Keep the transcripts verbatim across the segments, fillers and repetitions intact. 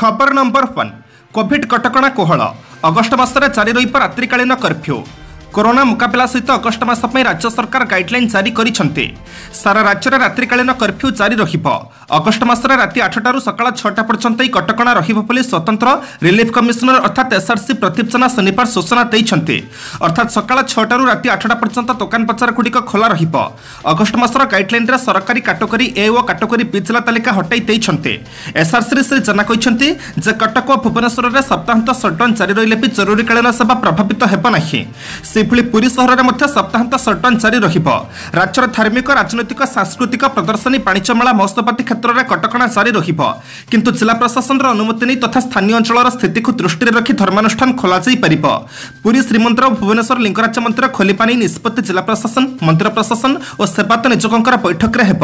ଖବର number one Covid କଟକଣା କୋହଳ ଅଗଷ୍ଟ ମାସରେ ଜାରି ରହିବ ରାତ୍ରିକାଳୀନ କର୍ଫ୍ୟୁ କରୋନା ମୁକାବିଲା ସହିତ ଅଗଷ୍ଟ ମାସ ପାଇଁ ରାଜ୍ୟ ସରକାର ଗାଇଡଲାଇନ୍ ଜାରି କରିଛନ୍ତି ସାରା ରାଜ୍ୟରେ ରାତ୍ରିକାଳୀନ କର୍ଫ୍ୟୁ ଜାରି ରହିବ ଅଗଷ୍ଟ ମାସରେ ରାତି ଆଠଟାରୁ ସକାଳ ଛଅଟା ପର୍ଯ୍ୟନ୍ତ ଏହି କଟକଣା ରହିବ ବୋଲି ସ୍ୱତନ୍ତ୍ର ରିଲିଫ୍ କମିଶନର ଅର୍ଥାତ୍ ଏସ୍ଆର୍ସି ପ୍ରଦୀପ ଜେନା ଶନିବାର ସୂଚନା ଦେଇଛନ୍ତି ଅର୍ଥାତ୍ ସକାଳ ଛଅଟାରୁ ରାତି ଆଠଟା ପର୍ଯ୍ୟନ୍ତ ଦୋକାନ ବଜାରଗୁଡ଼ିକ ଖୋଲା ରହିବ ଅଗଷ୍ଟ ମାସର ଗାଇଡଲାଇନ୍ରେ ସରକାରୀ କାଟେଗୋରୀ ଏ ଓ କାଟେଗୋରୀ ବି ଜିଲ୍ଲା ତାଲିକା ହଟାଇ ଦେଇଛନ୍ତି ଏସ୍ଆର୍ସିରେ ଶ୍ରୀ ଜେନା କହିଛନ୍ତି ଯେ କଟକ ଓ ଭୁବନେଶ୍ୱରରେ ସପ୍ତାହାନ୍ତ ସଟ୍ଡାଉନ୍ ଜାରି ରହିଲେ ବି ଜରୁରୀକାଳୀନ ସେବା ପ୍ରଭାବିତ ହେବ ନାହିଁ ସେହିଭଳି ପୁରୀ ସହରରେ ମଧ୍ୟ ସପ୍ତାହାନ୍ତ ସଟ୍ଡାଉନ୍ ଜାରି ରହିବ ରାଜ୍ୟର ଧାର୍ମିକ ରାଜନୈତିକ ସାଂସ୍କୃତିକ ପ୍ରଦର୍ଶନୀ ବାଣିଜ୍ୟ ମେଳା ମହୋତ୍ସବ ଆଦି କ୍ଷେତ୍ରରେ କଟକଣା ଜାରି ରହିବ କିନ୍ତୁ ଜିଲ୍ଲା ପ୍ରଶାସନର ଅନୁମତି ନେଇ ତଥା ସ୍ଥାନୀୟ ଅଞ୍ଚଳର ସ୍ଥିତିକୁ ଦୃଷ୍ଟିରେ ରଖି ଧର୍ମାନୁଷ୍ଠାନ ଖୋଲାଯାଇପାରିବ ପୁରୀ ଶ୍ରୀମନ୍ଦିର ଓ ଭୁବନେଶ୍ୱର ଲିଙ୍ଗରାଜ ମନ୍ଦିର ଖୋଲିବା ନେଇ ନିଷ୍ପତ୍ତି ଜିଲ୍ଲା ପ୍ରଶାସନ ମନ୍ଦିର ପ୍ରଶାସନ ଓ ସେବାୟତ ନିଯୋଗଙ୍କର ବୈଠକରେ ହେବ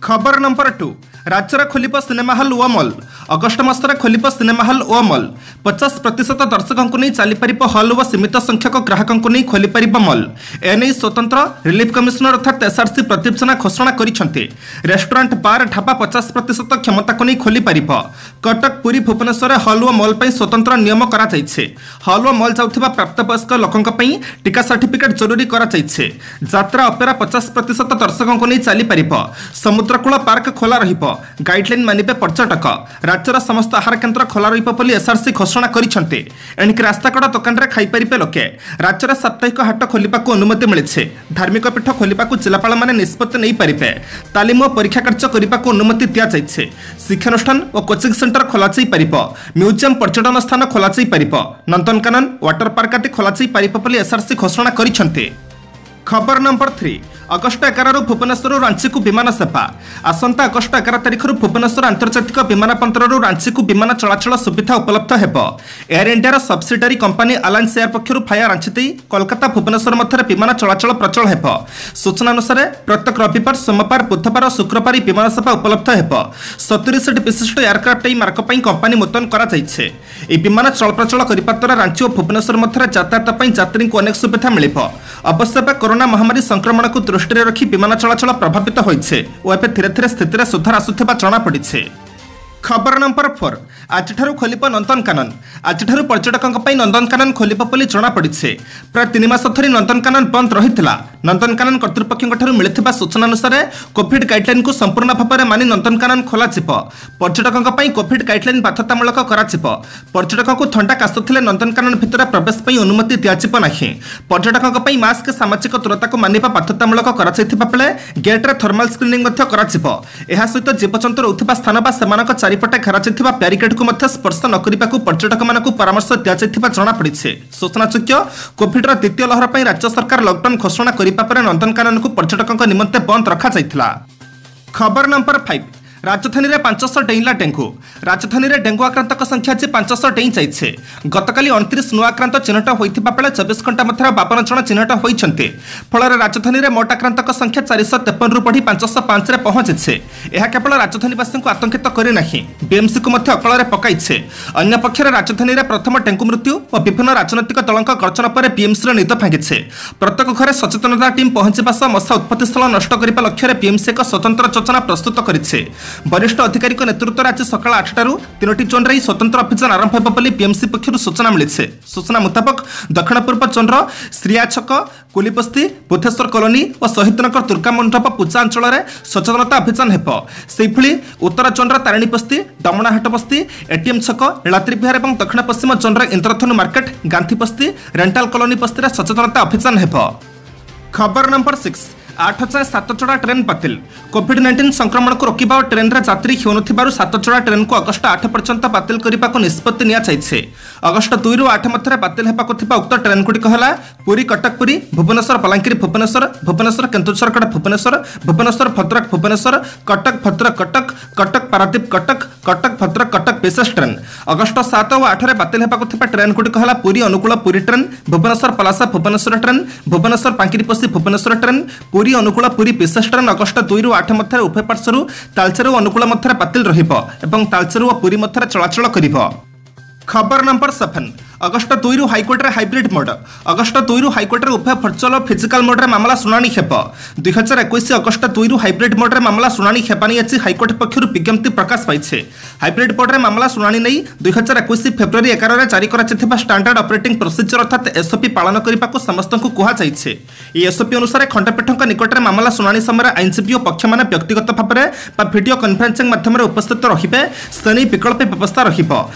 ଖବର ନମ୍ବର ଟୁ ରାଜ୍ୟରେ ଖୋଲିବ ସିନେମା ହଲ୍ ଓ ମଲ୍ ଅଗଷ୍ଟ ମାସରେ ଖୋଲିବ ସିନେମା ହଲ୍ ଓ ମଲ୍ ପଚାଶ ପ୍ରତିଶତ ଦର୍ଶକଙ୍କୁ ନେଇ ଚାଲିପାରିବ ହଲ୍ ଓ ସୀମିତ ସଂଖ୍ୟକ ଗ୍ରାହକଙ୍କୁ ନେଇ ଖୋଲିପାରିବ ମଲ୍ ଏନେଇ ସ୍ୱତନ୍ତ୍ର ରିଲିଫ୍ କମିଶନର ଅର୍ଥାତ୍ ଏସ୍ଆର୍ସି ପ୍ରଦୀପ ଜେନା ଘୋଷଣା କରିଛନ୍ତି ରେଷ୍ଟୁରାଣ୍ଟ ବାର୍ ଢାବା ପଚାଶ ପ୍ରତିଶତ କ୍ଷମତାକୁ ନେଇ ଖୋଲିପାରିବ କଟକ ପୁରୀ ଭୁବନେଶ୍ୱରରେ ହଲ୍ ଓ ମଲ୍ ପାଇଁ ସ୍ୱତନ୍ତ୍ର ନିୟମ କରାଯାଇଛି ହଲ୍ ଓ ମଲ୍ ଯାଉଥିବା ପ୍ରାପ୍ତବୟସ୍କ ଲୋକଙ୍କ ପାଇଁ ଟିକା ସାର୍ଟିଫିକେଟ୍ ଜରୁରୀ କରାଯାଇଛି ଯାତ୍ରା ଅପେରା ପଚାଶ ପ୍ରତିଶତ ଦର୍ଶକଙ୍କୁ ନେଇ ଚାଲିପାରିବ ସମୁଦ୍ରକୂଳ ପାର୍କ ଖୋଲା ରହିବ ଗାଇଡଲାଇନ୍ ମାନିବେ ପର୍ଯ୍ୟଟକ ରାଜ୍ୟର ସମସ୍ତ ଆହାର କେନ୍ଦ୍ର ଖୋଲା ରହିବ ବୋଲି ଏସ୍ଆର୍ସି ଘୋଷଣା କରିଛନ୍ତି ଏଣିକି ରାସ୍ତାକଡ଼ ଦୋକାନରେ ଖାଇପାରିବେ ଲୋକେ ରାଜ୍ୟରେ ସାପ୍ତାହିକ ହାଟ ଖୋଲିବାକୁ ଅନୁମତି ମିଳିଛି ଧାର୍ମିକ ପୀଠ ଖୋଲିବାକୁ ଜିଲ୍ଲାପାଳମାନେ ନିଷ୍ପତ୍ତି ନେଇପାରିବେ ତାଲିମ ଓ ପରୀକ୍ଷା କାର୍ଯ୍ୟ କରିବାକୁ ଅନୁମତି ଦିଆଯାଇଛି ଶିକ୍ଷାନୁଷ୍ଠାନ ଓ କୋଚିଂ ସେଣ୍ଟର ଖୋଲାଯାଇପାରିବ ମ୍ୟୁଜିୟମ ପର୍ଯ୍ୟଟନ ସ୍ଥାନ ଖୋଲାଯାଇପାରିବ ନନ୍ଦନକାନନ ୱାଟର ପାର୍କ ଆଦି ଖୋଲାଯାଇପାରିବ ବୋଲି ଏସ୍ଆର୍ସି ଘୋଷଣା କରିଛନ୍ତି ଖବର ନମ୍ବର ଥ୍ରୀ ଅଗଷ୍ଟ ଏଗାରରୁ ଭୁବନେଶ୍ୱରରୁ ରାଞ୍ଚିକୁ ବିମାନ ସେବା ଆସନ୍ତା ଅଗଷ୍ଟ ଏଗାର ତାରିଖରୁ ଭୁବନେଶ୍ୱର ଆନ୍ତର୍ଜାତିକ ବିମାନ ବନ୍ଦରରୁ ରାଞ୍ଚିକୁ ବିମାନ ଚଳାଚଳ ସୁବିଧା ଉପଲବ୍ଧ ହେବ ଏୟାର ଇଣ୍ଡିଆର ସବସିଡାରୀ କମ୍ପାନୀ ଆଲାଏନ୍ସ ଏୟାର ପକ୍ଷରୁ ଭାୟା ରାଞ୍ଚି ଦେଇ କୋଲକାତା ଭୁବନେଶ୍ୱର ମଧ୍ୟରେ ବିମାନ ଚଳାଚଳ ପ୍ରଚଳ ହେବ ସୂଚନା ଅନୁସାରେ ପ୍ରତ୍ୟେକ ରବିବାର ସୋମବାର ବୁଧବାର ଓ ଶୁକ୍ରବାର ଏହି ବିମାନ ସେବା ଉପଲବ୍ଧ ହେବ ସତୁରି ସିଟ୍ ବିଶିଷ୍ଟ ଏୟାରକ୍ରାଫ୍ଟ ଏହି ମାର୍ଗ ପାଇଁ କମ୍ପାନୀ ମୁତୟନ କରାଯାଇଛି ଏହି ବିମାନ ଚଳପ୍ରଚଳ କରିବା ଦ୍ୱାରା ରାଞ୍ଚି ଓ ଭୁବନେଶ୍ୱର ମଧ୍ୟରେ ଯାତାୟାତ ପାଇଁ ଯାତ୍ରୀଙ୍କୁ ଅନେକ ସୁବିଧା ମିଳିବ ଅବଶ୍ୟ ଏବେ କରୋନା ମହାମାରୀ ସଂକ୍ରମଣକୁ ଦୃଷ୍ଟିରେ ରଖି ବିମାନ ଚଳାଚଳ ପ୍ରଭାବିତ ହୋଇଛି ଓ ଏବେ ଧୀରେ ଧୀରେ ସ୍ଥିତିରେ ସୁଧାର ଆସୁଥିବା ଜଣାପଡ଼ିଛି ଖବର ନମ୍ବର ଫୋର୍ ଆଜିଠାରୁ ଖୋଲିବ ନନ୍ଦନକାନନ ଆଜିଠାରୁ ପର୍ଯ୍ୟଟକଙ୍କ ପାଇଁ ନନ୍ଦନକାନନ ଖୋଲିବ ବୋଲି ଜଣାପଡ଼ିଛି ପ୍ରାୟ ତିନି ମାସ ଧରି ନନ୍ଦନକାନନ ବନ୍ଦ ରହିଥିଲା ନନ୍ଦନକାନନ କର୍ତ୍ତୃପକ୍ଷଙ୍କଠାରୁ ମିଳିଥିବା ସୂଚନା ଅନୁସାରେ କୋଭିଡ୍ ଗାଇଡଲାଇନ୍କୁ ସମ୍ପୂର୍ଣ୍ଣ ଭାବରେ ମାନି ନନ୍ଦନକାନନ ଖୋଲାଯିବ ପର୍ଯ୍ୟଟକଙ୍କ ପାଇଁ କୋଭିଡ୍ ଗାଇଡଲାଇନ୍ ବାଧ୍ୟତାମୂଳକ କରାଯିବ ପର୍ଯ୍ୟଟକଙ୍କୁ ଥଣ୍ଡା କାଶ ଥିଲେ ନନ୍ଦନକାନନ ଭିତରେ ପ୍ରବେଶ ପାଇଁ ଅନୁମତି ଦିଆଯିବ ନାହିଁ ପର୍ଯ୍ୟଟକଙ୍କ ପାଇଁ ମାସ୍କ ସାମାଜିକ ଦୂରତାକୁ ମାନିବା ବାଧ୍ୟତାମୂଳକ କରାଯାଇଥିବା ବେଳେ ଗେଟ୍ରେ ଥର୍ମାଲ ସ୍କ୍ରିନିଂ ମଧ୍ୟ କରାଯିବ ଏହା ସହିତ ଜୀବଜନ୍ତୁ ରହୁଥିବା ସ୍ଥାନ ବା ସେମାନଙ୍କ ଚାରିପଟେ ଘେରାଯାଇଥିବା ବ୍ୟାରିକେଡ୍କୁ ମଧ୍ୟ ସ୍ପର୍ଶ ନ କରିବାକୁ ପର୍ଯ୍ୟଟକମାନଙ୍କୁ ପରାମର୍ଶ ଦିଆଯାଇଥିବା ଜଣାପଡ଼ିଛି ସୂଚନାଯୋଗ୍ୟ କୋଭିଡ୍ର ଦ୍ୱିତୀୟ ଲହର ପାଇଁ ରାଜ୍ୟ ସରକାର ଲକଡାଉନ୍ ଘୋଷଣା କରିବା ପରେ ନନ୍ଦନକାନନକୁ ପର୍ଯ୍ୟଟକଙ୍କ ନିମନ୍ତେ ବନ୍ଦ ରଖାଯାଇଥିଲା ଖବର ନମ୍ବର ଫାଇଭ୍ ରାଜଧାନୀରେ ପାଞ୍ଚଶହ ଡେଇଁଲା ଡେଙ୍ଗୁ ରାଜଧାନୀରେ ଡେଙ୍ଗୁ ଆକ୍ରାନ୍ତଙ୍କ ସଂଖ୍ୟା ଆଜି ପାଞ୍ଚଶହ ଡେଇଁ ଯାଇଛି ଗତକାଲି ଅଣତିରିଶ ନୂଆ ଆକ୍ରାନ୍ତ ଚିହ୍ନଟ ହୋଇଥିବା ବେଳେ ଚବିଶ ଘଣ୍ଟା ମଧ୍ୟରେ ବାବନ ଜଣ ଚିହ୍ନଟ ହୋଇଛନ୍ତି ଫଳରେ ରାଜଧାନୀରେ ମୋଟ ଆକ୍ରାନ୍ତଙ୍କ ସଂଖ୍ୟା ଚାରିଶହ ତେପନରୁ ବଢ଼ି ପାଞ୍ଚଶହ ପାଞ୍ଚରେ ପହଞ୍ଚିଛି ଏହା କେବଳ ରାଜଧାନୀବାସୀଙ୍କୁ ଆତଙ୍କିତ କରିନାହିଁ ବିଏମ୍ସିକୁ ମଧ୍ୟ ଅକଳରେ ପକାଇଛି ଅନ୍ୟପକ୍ଷରେ ରାଜଧାନୀରେ ପ୍ରଥମ ଡେଙ୍ଗୁ ମୃତ୍ୟୁ ଓ ବିଭିନ୍ନ ରାଜନୈତିକ ଦଳଙ୍କ ଗର୍ଜନ ପରେ ବିଏମ୍ସିର ନିଦ ଭାଙ୍ଗିଛି ପ୍ରତ୍ୟେକ ଘରେ ସଚେତନତା ଟିମ୍ ପହଞ୍ଚିବା ସହ ମଶା ଉତ୍ପତ୍ତି ସ୍ଥଳ ନଷ୍ଟ କରିବା ଲକ୍ଷ୍ୟରେ ବିଏମ୍ସି ଏକ ସ୍ୱତନ୍ତ୍ର ଯୋଜନା ପ୍ରସ୍ତୁତ କରିଛି ବରିଷ୍ଠ ଅଧିକାରୀଙ୍କ ନେତୃତ୍ୱରେ ଆଜି ସକାଳ ଆଠଟାରୁ ତିନୋଟି ଜୋନ୍ରେ ଏହି ସ୍ୱତନ୍ତ୍ର ଅଭିଯାନ ଆରମ୍ଭ ହେବ ବୋଲି ବିଏମ୍ସି ପକ୍ଷରୁ ସୂଚନା ମିଳିଛି ସୂଚନା ମୁତାବକ ଦକ୍ଷିଣ ପୂର୍ବ ଜୋନ୍ର ଶ୍ରୀୟା ଛକ କୁଲିବସ୍ତି ବୁଦ୍ଧେଶ୍ୱର କଲୋନୀ ଓ ଶହୀଦନଗର ଦୁର୍ଗା ମଣ୍ଡପ ପୂଜା ଅଞ୍ଚଳରେ ସଚେତନତା ଅଭିଯାନ ହେବ ସେହିଭଳି ଉତ୍ତର ଜୋନ୍ର ତାରିଣୀ ବସ୍ତି ଡମଣାହାଟ ବସ୍ତି ଏଟିଏମ୍ ଛକ ନୀଳାଦ୍ରି ବିହାର ଏବଂ ଦକ୍ଷିଣ ପଶ୍ଚିମ ଜୋନ୍ର ଇନ୍ଦ୍ରଧନୁ ମାର୍କେଟ ଗାନ୍ଧୀ ବସ୍ତି ରେଣ୍ଟାଲ କଲୋନୀ ବସ୍ତିରେ ସଚେତନତା ଅଭିଯାନ ହେବ ଖବର ନମ୍ବର ସିକ୍ସ ଆଠ ଯାଏଁ ସାତ ଯୋଡ଼ା ଟ୍ରେନ୍ ବାତିଲ କୋଭିଡ୍ ନାଇଣ୍ଟିନ୍ ସଂକ୍ରମଣକୁ ରୋକିବା ଓ ଟ୍ରେନ୍ରେ ଯାତ୍ରୀ ହେଉନଥିବାରୁ ସାତ ଯୋଡ଼ା ଟ୍ରେନ୍କୁ ଅଗଷ୍ଟ ଆଠ ପର୍ଯ୍ୟନ୍ତ ବାତିଲ କରିବାକୁ ନିଷ୍ପତ୍ତି ନିଆଯାଇଛି ଅଗଷ୍ଟ ଦୁଇରୁ ଆଠ ମଧ୍ୟରେ ବାତିଲ ହେବାକୁ ଥିବା ଉକ୍ତ ଟ୍ରେନ୍ଗୁଡ଼ିକ ହେଲା ପୁରୀ କଟକ ପୁରୀ ଭୁବନେଶ୍ୱର ବଲାଙ୍ଗୀର ଭୁବନେଶ୍ୱର ଭୁବନେଶ୍ୱର କେନ୍ଦୁଝରଗଡ଼ ଭୁବନେଶ୍ୱର ଭୁବନେଶ୍ୱର ଭଦ୍ରକ ଭୁବନେଶ୍ୱର କଟକ ଭଦ୍ରକ କଟକ କଟକ ପାରାଦୀପ କଟକ କଟକ ଭଦ୍ରକ କଟକ ବିଶେଷ ଟ୍ରେନ୍ ଅଗଷ୍ଟ ସାତ ଓ ଆଠରେ ବାତିଲ ହେବାକୁ ଥିବା ଟ୍ରେନ୍ଗୁଡ଼ିକ ହେଲା Puri Angul Puri train Bhubaneswar Palasa Bhubaneswar train Bhubaneswar Bangiriposi Bhubaneswar train Puri Angul Puri ବିଶେଷ ଟ୍ରେନ୍ ଅଗଷ୍ଟ ଦୁଇରୁ ଆଠ ମଧ୍ୟରେ ଉଭୟ ପାର୍ଶ୍ୱରୁ ତାଳଚେର ଓ ଅନୁଗୁଳ ମଧ୍ୟରେ ବାତିଲ ରହିବ ଏବଂ ତାଳଚେର ଓ ପୁରୀ ମଧ୍ୟରେ ଚଳାଚଳ କରିବ ଖବର ନମ୍ବର ସେଭେନ୍ ଅଗଷ୍ଟ ଦୁଇରୁ ହାଇକୋର୍ଟରେ ହାଇବ୍ରିଡ୍ ମୋଡ୍। ଅଗଷ୍ଟ ଦୁଇରୁ ହାଇକୋର୍ଟରେ ଉଭୟ ଭର୍ଚୁଆଲ ଓ ଫିଜିକାଲ ମୋଡ୍ରେ ମାମଲା ଶୁଣାଣି ହେବ। ଦୁଇହଜାର ଏକୋଇଶ ଅଗଷ୍ଟ ଦୁଇରୁ ହାଇବ୍ରିଡ୍ ମୋଡ୍ରେ ମାମଲା ଶୁଣାଣି ହେବା ନେଇ ଆଜି ହାଇକୋର୍ଟ ପକ୍ଷରୁ ବିଜ୍ଞପ୍ତି ପ୍ରକାଶ ପାଇଛି। ହାଇବ୍ରିଡ୍ ମୋଡ୍ରେ ମାମଲା ଶୁଣାଣି ନେଇ ଦୁଇହଜାର ଏକୋଇଶ ଫେବୃଆରୀ ଏଗାରରେ ଜାରି କରାଯାଇଥିବା ଷ୍ଟାଣ୍ଡାର୍ଡ ଅପରେଟିଂ ପ୍ରୋସିଜର ଅର୍ଥାତ୍ ଏସ୍ଓପି ପାଳନ କରିବାକୁ ସମସ୍ତଙ୍କୁ କୁହାଯାଇଛି। ଏହି ଏସ୍ଓପି ଅନୁସାରେ ଖଣ୍ଡପୀଠଙ୍କ ନିକଟରେ ମାମଲା ଶୁଣାଣି ସମୟରେ ଆଇନଜୀବୀ ଓ ପକ୍ଷମାନେ ବ୍ୟକ୍ତିଗତ ଭାବରେ ବା ଭିଡିଓ କନଫରେନ୍ସିଂ ମାଧ୍ୟମରେ ଉପସ୍ଥିତ ରହିବେ, ସେ ନେଇ ବିକଳ୍ପ ବ୍ୟବସ୍ଥା ରହିବ।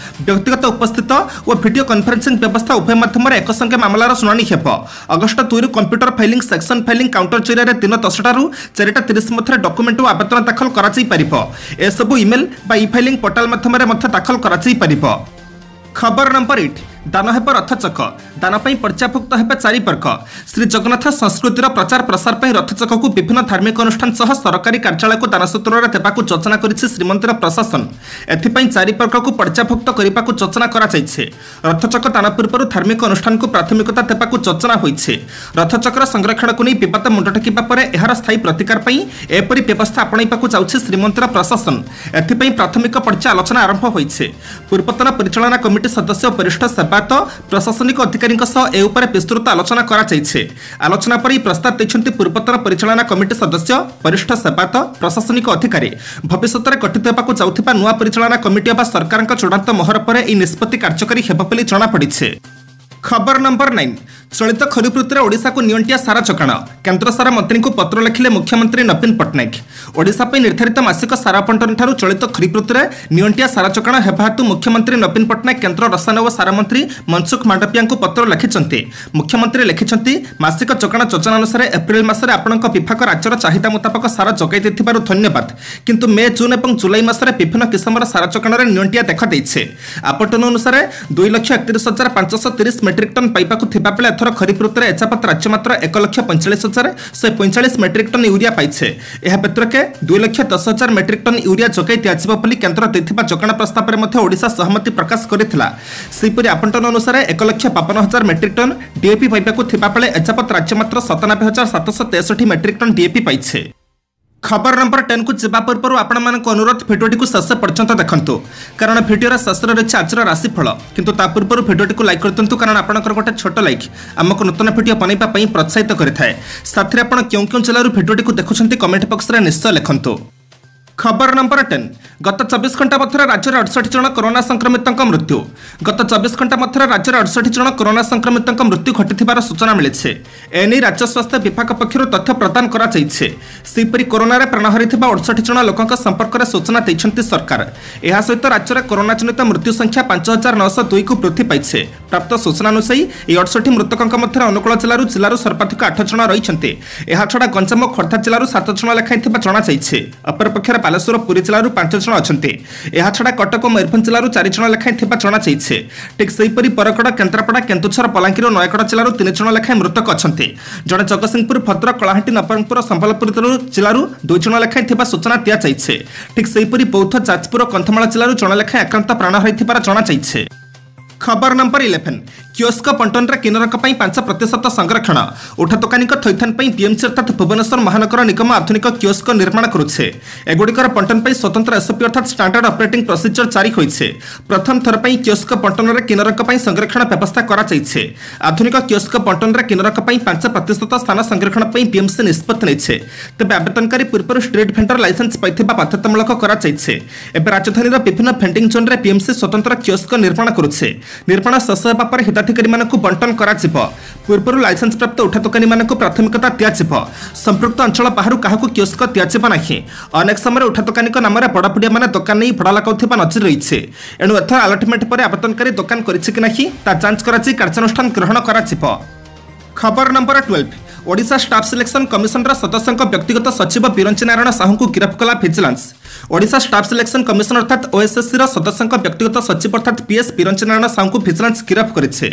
ବ୍ୟକ୍ତିଗତ ଉପସ୍ଥିତ ଓ ଭିଡିଓ କନଫରେନ୍ସିଂ ବ୍ୟବସ୍ଥା ଉଭୟ ମାଧ୍ୟମରେ ଏକସଙ୍ଗେ ମାମଲାର ଶୁଣାଣି ହେବ। ଅଗଷ୍ଟ ଦୁଇରୁ computer filing, section filing counter ଜରିଆରେ ଦିନ ଦଶଟାରୁ ଚାରିଟା ତିରିଶ ମଧ୍ୟରେ ଡକୁମେଣ୍ଟ ଓ ଆବେଦନ ଦାଖଲ କରାଯାଇପାରିବ। ଏସବୁ ଇମେଲ୍ ବା ଇ ଫାଇଲିଂ ପୋର୍ଟାଲ ମାଧ୍ୟମରେ ମଧ୍ୟ ଦାଖଲ କରାଯାଇପାରିବ। ଖବର ନମ୍ବର ଏଇଟ୍, ଦାନ ହେବ ରଥଚକ। ଦାନ ପାଇଁ ପର୍ଯ୍ୟାଭୁକ୍ତ ହେବେ ଚାରି ବର୍ଗ। ଶ୍ରୀ ଜଗନ୍ନାଥ ସଂସ୍କୃତିର ପ୍ରଚାର ପ୍ରସାର ପାଇଁ ରଥଚକକୁ ବିଭିନ୍ନ ଧାର୍ମିକ ଅନୁଷ୍ଠାନ ସହ ସରକାରୀ କାର୍ଯ୍ୟାଳୟକୁ ଦାନସୂତ୍ରରେ ଦେବାକୁ ଯୋଜନା କରିଛି ଶ୍ରୀମନ୍ଦିର ପ୍ରଶାସନ। ଏଥିପାଇଁ ଚାରି ବର୍ଗକୁ ପର୍ଯ୍ୟାଭୁକ୍ତ କରିବାକୁ ଯୋଜନା କରାଯାଇଛି। ରଥଚକ ଦାନ ପୂର୍ବରୁ ଧାର୍ମିକ ଅନୁଷ୍ଠାନକୁ ପ୍ରାଥମିକତା ଦେବାକୁ ଯୋଜନା ହୋଇଛି। ରଥଚକର ସଂରକ୍ଷଣକୁ ନେଇ ବିବାଦ ମୁଣ୍ଡ ଟେକିବା ପରେ ଏହାର ସ୍ଥାୟୀ ପ୍ରତିକାର ପାଇଁ ଏପରି ବ୍ୟବସ୍ଥା ଆପଣେଇବାକୁ ଯାଉଛି ଶ୍ରୀମନ୍ଦିର ପ୍ରଶାସନ। ଏଥିପାଇଁ ପ୍ରାଥମିକ ପର୍ଯ୍ୟାୟ ଆଲୋଚନା ଆରମ୍ଭ ହୋଇଛି। ପୂର୍ବତନ ପରିଚାଳନା କମିଟି ସଦସ୍ୟ ଓ ବରିଷ୍ଠ ସେବାୟତ, ପ୍ରଶାସନିକ ଅଧିକାରୀଙ୍କ ସହ ଏ ଉପରେ ବିସ୍ତୃତ ଆଲୋଚନା କରାଯାଇଛି। ଆଲୋଚନା ପରେ ଏହି ପ୍ରସ୍ତାବ ଦେଇଛନ୍ତି ପୂର୍ବତନ ପରିଚାଳନା କମିଟି ସଦସ୍ୟ, ବରିଷ୍ଠ ସେବାୟତ, ପ୍ରଶାସନିକ ଅଧିକାରୀ। ଭବିଷ୍ୟତରେ ଗଠିତ ହେବାକୁ ଯାଉଥିବା ନୂଆ ପରିଚାଳନା କମିଟି ଅବା ସରକାରଙ୍କ ଚୂଡ଼ାନ୍ତ ମୋହର ପରେ ଏହି ନିଷ୍ପତ୍ତି କାର୍ଯ୍ୟକାରୀ ହେବ ବୋଲି ଜଣାପଡ଼ିଛି। ଖବର ନମ୍ବର ନାଇନ୍, ଚଳିତ ଖରିଫ ଋତୁରେ ଓଡ଼ିଶାକୁ ନିଅଣ୍ଟିଆ ସାର ଯୋଗାଣ। କେନ୍ଦ୍ର ସାର ମନ୍ତ୍ରୀଙ୍କୁ ପତ୍ର ଲେଖିଲେ ମୁଖ୍ୟମନ୍ତ୍ରୀ ନବୀନ ପଟ୍ଟନାୟକ। ଓଡ଼ିଶା ପାଇଁ ନିର୍ଦ୍ଧାରିତ ମାସିକ ସାର ବଣ୍ଟନଠାରୁ ଚଳିତ ଖରିଫ ଋତୁରେ ନିଅଣ୍ଟିଆ ସାର ଯୋଗାଣ ହେବା ହେତୁ ମୁଖ୍ୟମନ୍ତ୍ରୀ ନବୀନ ପଟ୍ଟନାୟକ କେନ୍ଦ୍ର ରସାୟନ ଓ ସାର ମନ୍ତ୍ରୀ ମନସୁଖ ମାଣ୍ଡବିଆଙ୍କୁ ପତ୍ର ଲେଖିଛନ୍ତି। ମୁଖ୍ୟମନ୍ତ୍ରୀ ଲେଖିଛନ୍ତି, ମାସିକ ଯୋଗାଣ ଯୋଜନା ଅନୁସାରେ ଏପ୍ରିଲ ମାସରେ ଆପଣଙ୍କ ବିଭାଗ ରାଜ୍ୟର ଚାହିଦା ମୁତାବକ ସାର ଯୋଗାଇ ଦେଇଥିବାରୁ ଧନ୍ୟବାଦ। କିନ୍ତୁ ମେ, ଜୁନ୍ ଏବଂ ଜୁଲାଇ ମାସରେ ବିଭିନ୍ନ କିସମର ସାର ଯୋଗାଣରେ ନିଅଣ୍ଟିଆ ଦେଖାଦେଇଛି। ଆବଣ୍ଟନ ଅନୁସାରେ ଦୁଇ ଲକ୍ଷ ଏକତିରିଶ ହଜାର ପାଞ୍ଚଶହ ତିରିଶ ମେଟ୍ରିକ୍ ଟନ୍ ପାଇବାକୁ ଥିବାବେଳେ ଏଥର ଖରିଫ ଋତୁରେ ଏଯାବତ୍ ରାଜ୍ୟ ମାତ୍ର ଏକ ଲକ୍ଷ ପଇଁଚାଳିଶ ହଜାର ଶହେ ପଇଁଚାଳିଶ ମେଟ୍ରିକ୍ ଟନ୍ ୟୁରିଆ ପାଇছে। ଏହା ବ୍ୟତିରେକେ ଦୁଇ ଲକ୍ଷ ଦଶ ହଜାର ମେଟ୍ରିକ୍ ଟନ୍ ୟୁରିଆ ଯୋଗାଇ ଦିଆଯିବ ବୋଲି କେନ୍ଦ୍ର ଦେଇଥିବା ଯୋଗାଣ ପ୍ରସ୍ତାବରେ ମଧ୍ୟ ଓଡ଼ିଶା ସହମତି ପ୍ରକାଶ କରିଥିଲା। ସେହିପରି ଆବଣ୍ଟନ ଅନୁସାରେ ଏକ ଲକ୍ଷ ବାବନ ହଜାର ମେଟ୍ରିକ୍ ଟନ୍ ଡିଏପି ପାଇବାକୁ ଥିବାବେଳେ ଏଯାବତ୍ ରାଜ୍ୟ ମାତ୍ର ସତାନବେ ହଜାର ସାତଶହ ତେଷଠି ମେଟ୍ରିକ୍ ଟନ୍ ଡିଏପି ପାଇছে। ଖବର ନମ୍ବର ଟେନ୍କୁ ଯିବା ପୂର୍ବରୁ ଆପଣମାନଙ୍କୁ ଅନୁରୋଧ, ଭିଡ଼ିଓଟିକୁ ଶେଷ ପର୍ଯ୍ୟନ୍ତ ଦେଖନ୍ତୁ, କାରଣ ଭିଡ଼ିଓର ଶେଷରେ ରହିଛି ଆଜିର ରାଶିଫଳ। କିନ୍ତୁ ତା ପୂର୍ବରୁ ଭିଡ଼ିଓଟିକୁ ଲାଇକ୍ କରିଦିଅନ୍ତୁ, କାରଣ ଆପଣଙ୍କର ଗୋଟେ ଛୋଟ ଲାଇକ୍ ଆମକୁ ନୂତନ ଭିଡ଼ିଓ ବନାଇବା ପାଇଁ ପ୍ରୋତ୍ସାହିତ କରିଥାଏ। ସାଥିରେ ଆପଣ କେଉଁ କେଉଁ ଜିଲ୍ଲାରୁ ଭିଡ଼ିଓଟିକୁ ଦେଖୁଛନ୍ତି କମେଣ୍ଟ ବକ୍ସରେ ନିଶ୍ଚୟ ଲେଖନ୍ତୁ। ଖବର ନମ୍ବର ଟେନ୍, ଗତ ଚବିଶ ଘଣ୍ଟା ମଧ୍ୟରେ ରାଜ୍ୟରେ ଅଠଷଠି ଜଣ କରୋନା ସଂକ୍ରମିତଙ୍କ ମୃତ୍ୟୁ। ଗତ ଚବିଶ ଘଣ୍ଟା ମଧ୍ୟରେ ରାଜ୍ୟରେ ଅଠଷଠି ଜଣ କରୋନା ସଂକ୍ରମିତଙ୍କ ମୃତ୍ୟୁ ଘଟିଥିବାର ସୂଚନା ମିଳିଛି। ଏନେଇ ରାଜ୍ୟ ସ୍ୱାସ୍ଥ୍ୟ ବିଭାଗ ପକ୍ଷରୁ ତଥ୍ୟ ପ୍ରଦାନ କରାଯାଇଛି। ସେହିପରି କରୋନାରେ ପ୍ରାଣ ହରାଇଥିବା ଅଠଷଠି ଜଣ ଲୋକଙ୍କ ସମ୍ପର୍କରେ ସୂଚନା ଦେଇଛନ୍ତି ସରକାର। ଏହା ସହିତ ରାଜ୍ୟରେ କରୋନା ଜନିତ ମୃତ୍ୟୁ ସଂଖ୍ୟା ପାଞ୍ଚ ହଜାର ନଅଶହ ଦୁଇକୁ ବୃଦ୍ଧି ପାଇଛି। ପ୍ରାପ୍ତ ସୂଚନା ଅନୁଯାୟୀ ଏହି ଅଠଷଠି ମୃତକଙ୍କ ମଧ୍ୟରେ ଅନୁଗୋଳ ଜିଲ୍ଲାରୁ ଜିଲ୍ଲାରୁ ସର୍ବାଧିକ ଆଠ ଜଣ ରହିଛନ୍ତି। ଏହାଛଡ଼ା ଗଞ୍ଜାମ ଓ ଖୋର୍ଦ୍ଧା ଜିଲ୍ଲାରୁ ସାତ ଜଣ ଲେଖାଏଁ ଥିବା ଜଣାଯାଇଛି। ଅପରପକ୍ଷରେ ବାଲେଶ୍ୱର, ପୁରୀ ଜିଲ୍ଲାରୁ ପାଞ୍ଚ ଜଣ ଅଛନ୍ତି। ଏହାଛଡ଼ା କଟକ ଓ ମୟୂରଭଞ୍ଜ ଜିଲ୍ଲାରୁ ଚାରି ଜଣ ଲେଖାଏଁ ଥିବା ଜଣାଯାଇଛି। ଠିକ୍ ସେହିପରି ବରଗଡ଼, କେନ୍ଦ୍ରାପଡ଼ା, କେନ୍ଦୁଝର, ବଲାଙ୍ଗୀର ଓ ନୟାଗଡ଼ ଜିଲ୍ଲାରୁ ତିନି ଜଣ ଲେଖାଏଁ ମୃତକ ଅଛନ୍ତି। ଜଣେ ଜଗତସିଂହପୁର, ଭଦ୍ରକ, କଳାହାଣ୍ଡି, ନବରଙ୍ଗପୁର ଓ ସମ୍ବଲପୁର ଜିଲ୍ଲାରୁ ଦୁଇ ଜଣ ଲେଖାଏଁ ଥିବା ସୂଚନା ଦିଆଯାଇଛି। ଠିକ୍ ସେହିପରି ବୌଦ୍ଧ, ଯାଜପୁର ଓ କନ୍ଧମାଳ ଜିଲ୍ଲାରୁ ଜଣେ ଲେଖାଏଁ ଆକ୍ରାନ୍ତ ପ୍ରାଣ ହରାଇଥିବାର ଜଣାଯାଇଛି। ଖବର ନମ୍ବର ଇଲେଭେନ୍, କିଓସ୍କ ବଣ୍ଟନରେ କିନ୍ନରଙ୍କ ପାଇଁ ପାଞ୍ଚ ପ୍ରତିଶତ ସଂରକ୍ଷଣ। ଉଠା ଦୋକାନୀଙ୍କ ଥଇଥାନ ପାଇଁ ବିଏମ୍ସି ଅର୍ଥାତ୍ ଭୁବନେଶ୍ୱର ମହାନଗର ନିଗମ ଆଧୁନିକ କିଓସ୍କ ନିର୍ମାଣ କରୁଛି। ଏଗୁଡ଼ିକର ବଣ୍ଟନ ପାଇଁ ସ୍ୱତନ୍ତ୍ର ଏସ୍ଓପି ଅର୍ଥାତ୍ ଷ୍ଟାଣ୍ଡାର୍ଡ ଅପରେଟିଂ ପ୍ରୋସିଜର ଜାରି ହୋଇଛି। ପ୍ରଥମ ଥର ପାଇଁ କିଓସ୍କ ବଣ୍ଟନରେ କିନ୍ନରଙ୍କ ପାଇଁ ସଂରକ୍ଷଣ ବ୍ୟବସ୍ଥା କରାଯାଇଛି। ଆଧୁନିକ କିଓସ୍କ ବଣ୍ଟନରେ କିନ୍ନରଙ୍କ ପାଇଁ ପାଞ୍ଚ ପ୍ରତିଶତ ସ୍ଥାନ ସଂରକ୍ଷଣ ପାଇଁ ବିଏମ୍ସି ନିଷ୍ପତ୍ତି ନେଇଛି। ତେବେ ଆବେଦନକାରୀ ପୂର୍ବରୁ ଷ୍ଟ୍ରିଟ୍ ଭେଣ୍ଡର ଲାଇସେନ୍ସ ପାଇଥିବା ବାଧ୍ୟତାମୂଳକ କରାଯାଇଛି। ଏବେ ରାଜଧାନୀର ବିଭିନ୍ନ ଭେଣ୍ଡିଂ ଜୋନ୍ରେ ବିଏମ୍ସି ସ୍ୱତନ୍ତ୍ର କିଓସ୍କ ନିର୍ମାଣ କରୁଛି। ନିର୍ମାଣ ଶେଷ ହେବା ପରେ ହିତାଧିକାରୀମାନଙ୍କୁ ବଣ୍ଟନ କରାଯିବ। ପୂର୍ବରୁ ଲାଇସେନ୍ସ ପ୍ରାପ୍ତ ଉଠା ଦୋକାନୀମାନଙ୍କୁ ପ୍ରାଥମିକତା ଦିଆଯିବ। ସମ୍ପୃକ୍ତ ଅଞ୍ଚଳ ବାହାରୁ କାହାକୁ କିଓସ୍କ ଦିଆଯିବ ନାହିଁ। ଅନେକ ସମୟରେ ଉଠା ଦୋକାନୀଙ୍କ ନାମରେ ବଡ଼ ପୁଡ଼ିଆମାନେ ଦୋକାନ ନେଇ ଭଡ଼ା ଲଗାଉଥିବା ନଜିର ରହିଛି। ଏଣୁ ଏଥର ଆଲଟମେଣ୍ଟ ପରେ ଆବେଦନକାରୀ ଦୋକାନ କରିଛି କି ନାହିଁ ତା ଯାଞ୍ଚ କରାଯାଇ କାର୍ଯ୍ୟାନୁଷ୍ଠାନ ଗ୍ରହଣ କରାଯିବ। ଖବର number twelve, Odisha staff selection commissioner ସଦସ୍ୟଙ୍କ ବ୍ୟକ୍ତିଗତ ସଚିବ ବିରଞ୍ଚି ନାରାୟଣ ସାହୁଙ୍କୁ ଗିରଫ କଲା vigilance. Odisha staff selection commission ଅର୍ଥାତ୍ ଓଏସ୍ଏସ୍ସିର ସଦସ୍ୟଙ୍କ ବ୍ୟକ୍ତିଗତ ସଚିବ ଅର୍ଥାତ୍ ପିଏସ୍ ବିରଞ୍ଚି ନାରାୟଣ ସାହୁଙ୍କୁ ଭିଜିଲାନ୍ସ ଗିରଫ କରିଛି।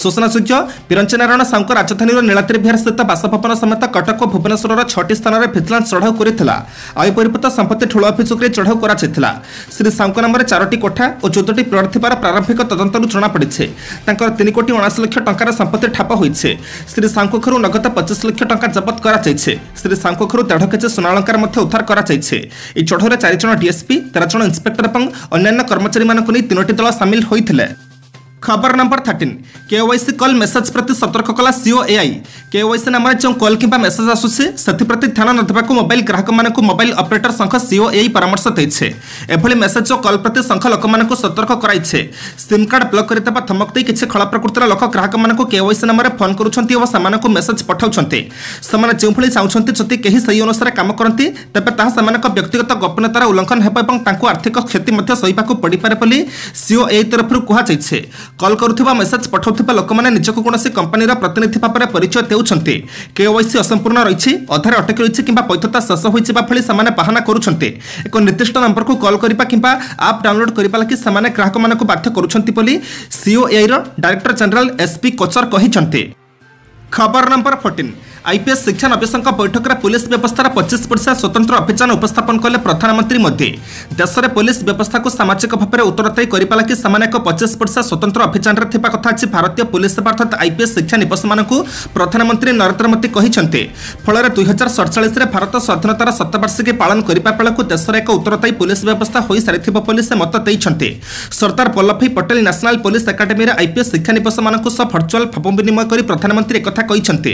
ସୂଚନାଯୋଗ୍ୟ, ବିରଞ୍ଚି ନାରାୟଣ ସାହୁଙ୍କ ରାଜଧାନୀର ନୀଳାଦ୍ରି ବିହାର ସ୍ଥିତ ବାସଭବନ ସମେତ କଟକ ଓ ଭୁବନେଶ୍ୱରର ଛଅଟି ସ୍ଥାନରେ ଭିଜିଲାନ୍ସ ଚଢ଼ାଉ କରିଥିଲା। ଆୟ ବହିର୍ଭୂତ ସମ୍ପତ୍ତି ଠୁଳ ଅଭିଯୋଗରେ ଚଢ଼ାଉ କରାଯାଇଥିଲା। ଶ୍ରୀ ସାହୁଙ୍କ ନାମରେ ଚାରୋଟି କୋଠା ଓ ଚଉଦଟି ପ୍ଲଟ୍ ଥିବାର ପ୍ରାରମ୍ଭିକ ତଦନ୍ତରୁ ଜଣାପଡ଼ିଛି। ତାଙ୍କର ତିନି କୋଟି ଅଣାଅଶୀ ଲକ୍ଷ ଟଙ୍କାର ସମ୍ପତ୍ତି ଠାବ ହୋଇଛି। ଶ୍ରୀ ସାହୁଙ୍କ ଘରୁ ନଗଦ ପଚିଶ ଲକ୍ଷ ଟଙ୍କା ଜବତ କରାଯାଇଛି। ଶ୍ରୀ ସାହୁଙ୍କ ଘରୁ ଦେଢ଼ କେଜି ସୁନା ଅଳଙ୍କାର ମଧ୍ୟ ଉଦ୍ଧାର କରାଯାଇଛି। ଏହି ଚଢ଼ାଉରେ ଚାରି ଜଣ ଡିଏସ୍ପି, ତେର ଜଣ ଇନ୍ସପେକ୍ଟର ଏବଂ ଅନ୍ୟାନ୍ୟ କର୍ମଚାରୀମାନଙ୍କୁ ନେଇ ତିନୋଟି ଦଳ ସାମିଲ ହୋଇଥିଲେ। ଖବର number thirteen KYC call message ପ୍ରତି ସତର୍କ କଲା ସିଓଏଆଇ କେୱାଇସି ନାମରେ ଯେଉଁ କଲ୍ କିମ୍ବା ମେସେଜ ଆସୁଛି ସେଥିପ୍ରତି ଧ୍ୟାନ ନ ଦେବାକୁ ମୋବାଇଲ ଗ୍ରାହକମାନଙ୍କୁ ମୋବାଇଲ ଅପରେଟର ସଂଘ ସିଓଏଆଇ ପରାମର୍ଶ ଦେଇଛି ଏଭଳି ମେସେଜ ଓ କଲ୍ ପ୍ରତି ସଂଘ ଲୋକମାନଙ୍କୁ ସତର୍କ କରାଇଛି ସିମ୍ କାର୍ଡ ବ୍ଲକ୍ କରିଦେବା ଧମକ ଦେଇ କିଛି ଖଳ ପ୍ରକୃତିର ଲୋକ ଗ୍ରାହକମାନଙ୍କୁ କେୱାଇସି ନାମରେ ଫୋନ୍ କରୁଛନ୍ତି ଓ ସେମାନଙ୍କୁ ମେସେଜ ପଠାଉଛନ୍ତି ସେମାନେ ଯେଉଁଭଳି ଚାହୁଁଛନ୍ତି ଯଦି କେହି ସେହି ଅନୁସାରେ କାମ କରନ୍ତି ତେବେ ତାହା ସେମାନଙ୍କ ବ୍ୟକ୍ତିଗତ ଗୋପନୀୟତାର ଉଲ୍ଲଂଘନ ହେବ ଏବଂ ତାଙ୍କୁ ଆର୍ଥିକ କ୍ଷତି ମଧ୍ୟ ସହିବାକୁ ପଡ଼ିପାରେ ବୋଲି ସିଓଏଆଇ ତରଫରୁ କୁହାଯାଇଛି କଲ୍ କରୁଥିବା ମେସେଜ ପଠାଉଥିବା ଲୋକମାନେ ନିଜକୁ କୌଣସି କମ୍ପାନୀର ପ୍ରତିନିଧି ଭାବରେ ପରିଚୟ ଦେଉଛନ୍ତି କେୱାଇସି ଅସମ୍ପୂର୍ଣ୍ଣ ରହିଛି ଅଧାରେ ଅଟକି ରହିଛି କିମ୍ବା ବୈଧତା ଶେଷ ହୋଇଯିବା ଭଳି ସେମାନେ ବାହାନା କରୁଛନ୍ତି ଏକ ନିର୍ଦ୍ଦିଷ୍ଟ ନମ୍ବରକୁ କଲ୍ କରିବା କିମ୍ବା ଆପ୍ ଡାଉନଲୋଡ୍ କରିବା ଲାଗି ସେମାନେ ଗ୍ରାହକମାନଙ୍କୁ ବାଧ୍ୟ କରୁଛନ୍ତି ବୋଲି ସିଓଏଆଇର ଡାଇରେକ୍ଟର ଜେନେରାଲ ଏସ୍ପି କୋଚର କହିଛନ୍ତି ଖବର ନମ୍ବର ଫୋର୍ଟିନ୍ ଆଇପିଏସ୍ ଶିକ୍ଷା ନବୀଶଙ୍କ ବୈଠକରେ ପୁଲିସ ବ୍ୟବସ୍ଥାର ପଚିଶ ବର୍ଷିଆ ସ୍ୱତନ୍ତ୍ର ଅଭିଯାନ ଉପସ୍ଥାପନ କଲେ ପ୍ରଧାନମନ୍ତ୍ରୀ ମୋଦି ଦେଶରେ ପୁଲିସ ବ୍ୟବସ୍ଥାକୁ ସାମାଜିକ ଭାବରେ ଉତ୍ତରଦାୟୀ କରିବା ଲାଗି ସେମାନେ ଏକ ପଚିଶ ବର୍ଷିଆ ସ୍ୱତନ୍ତ୍ର ଅଭିଯାନରେ ଥିବା କଥା ଆଜି ଭାରତୀୟ ପୁଲିସ ସେବା ଅର୍ଥାତ୍ ଆଇପିଏସ୍ ଶିକ୍ଷା ନିବସମାନଙ୍କୁ ପ୍ରଧାନମନ୍ତ୍ରୀ ନରେନ୍ଦ୍ର ମୋଦି କହିଛନ୍ତି ଫଳରେ ଦୁଇ ହଜାର ସଡ଼ଚାଳିଶରେ ଭାରତ ସ୍ୱାଧୀନତାର ଶତବାର୍ଷିକୀ ପାଳନ କରିବା ବେଳକୁ ଦେଶରେ ଏକ ଉତ୍ତରଦାୟୀ ପୁଲିସ ବ୍ୟବସ୍ଥା ହୋଇସାରିଥିବ ବୋଲି ସେ ମତ ଦେଇଛନ୍ତି ସର୍ଦ୍ଦାର ବଲ୍ଲଭଭାଇ ପଟେଲ ନ୍ୟାସନାଲ ପୋଲିସ ଏକାଡେମୀରେ ଆଇପିଏସ୍ ଶିକ୍ଷାନିବସମାନଙ୍କୁ ସହ ଭର୍ଚୁଆଲ ଭାବ ବିନିମୟ କରି ପ୍ରଧାନମନ୍ତ୍ରୀ ଏକଥା କହିଛନ୍ତି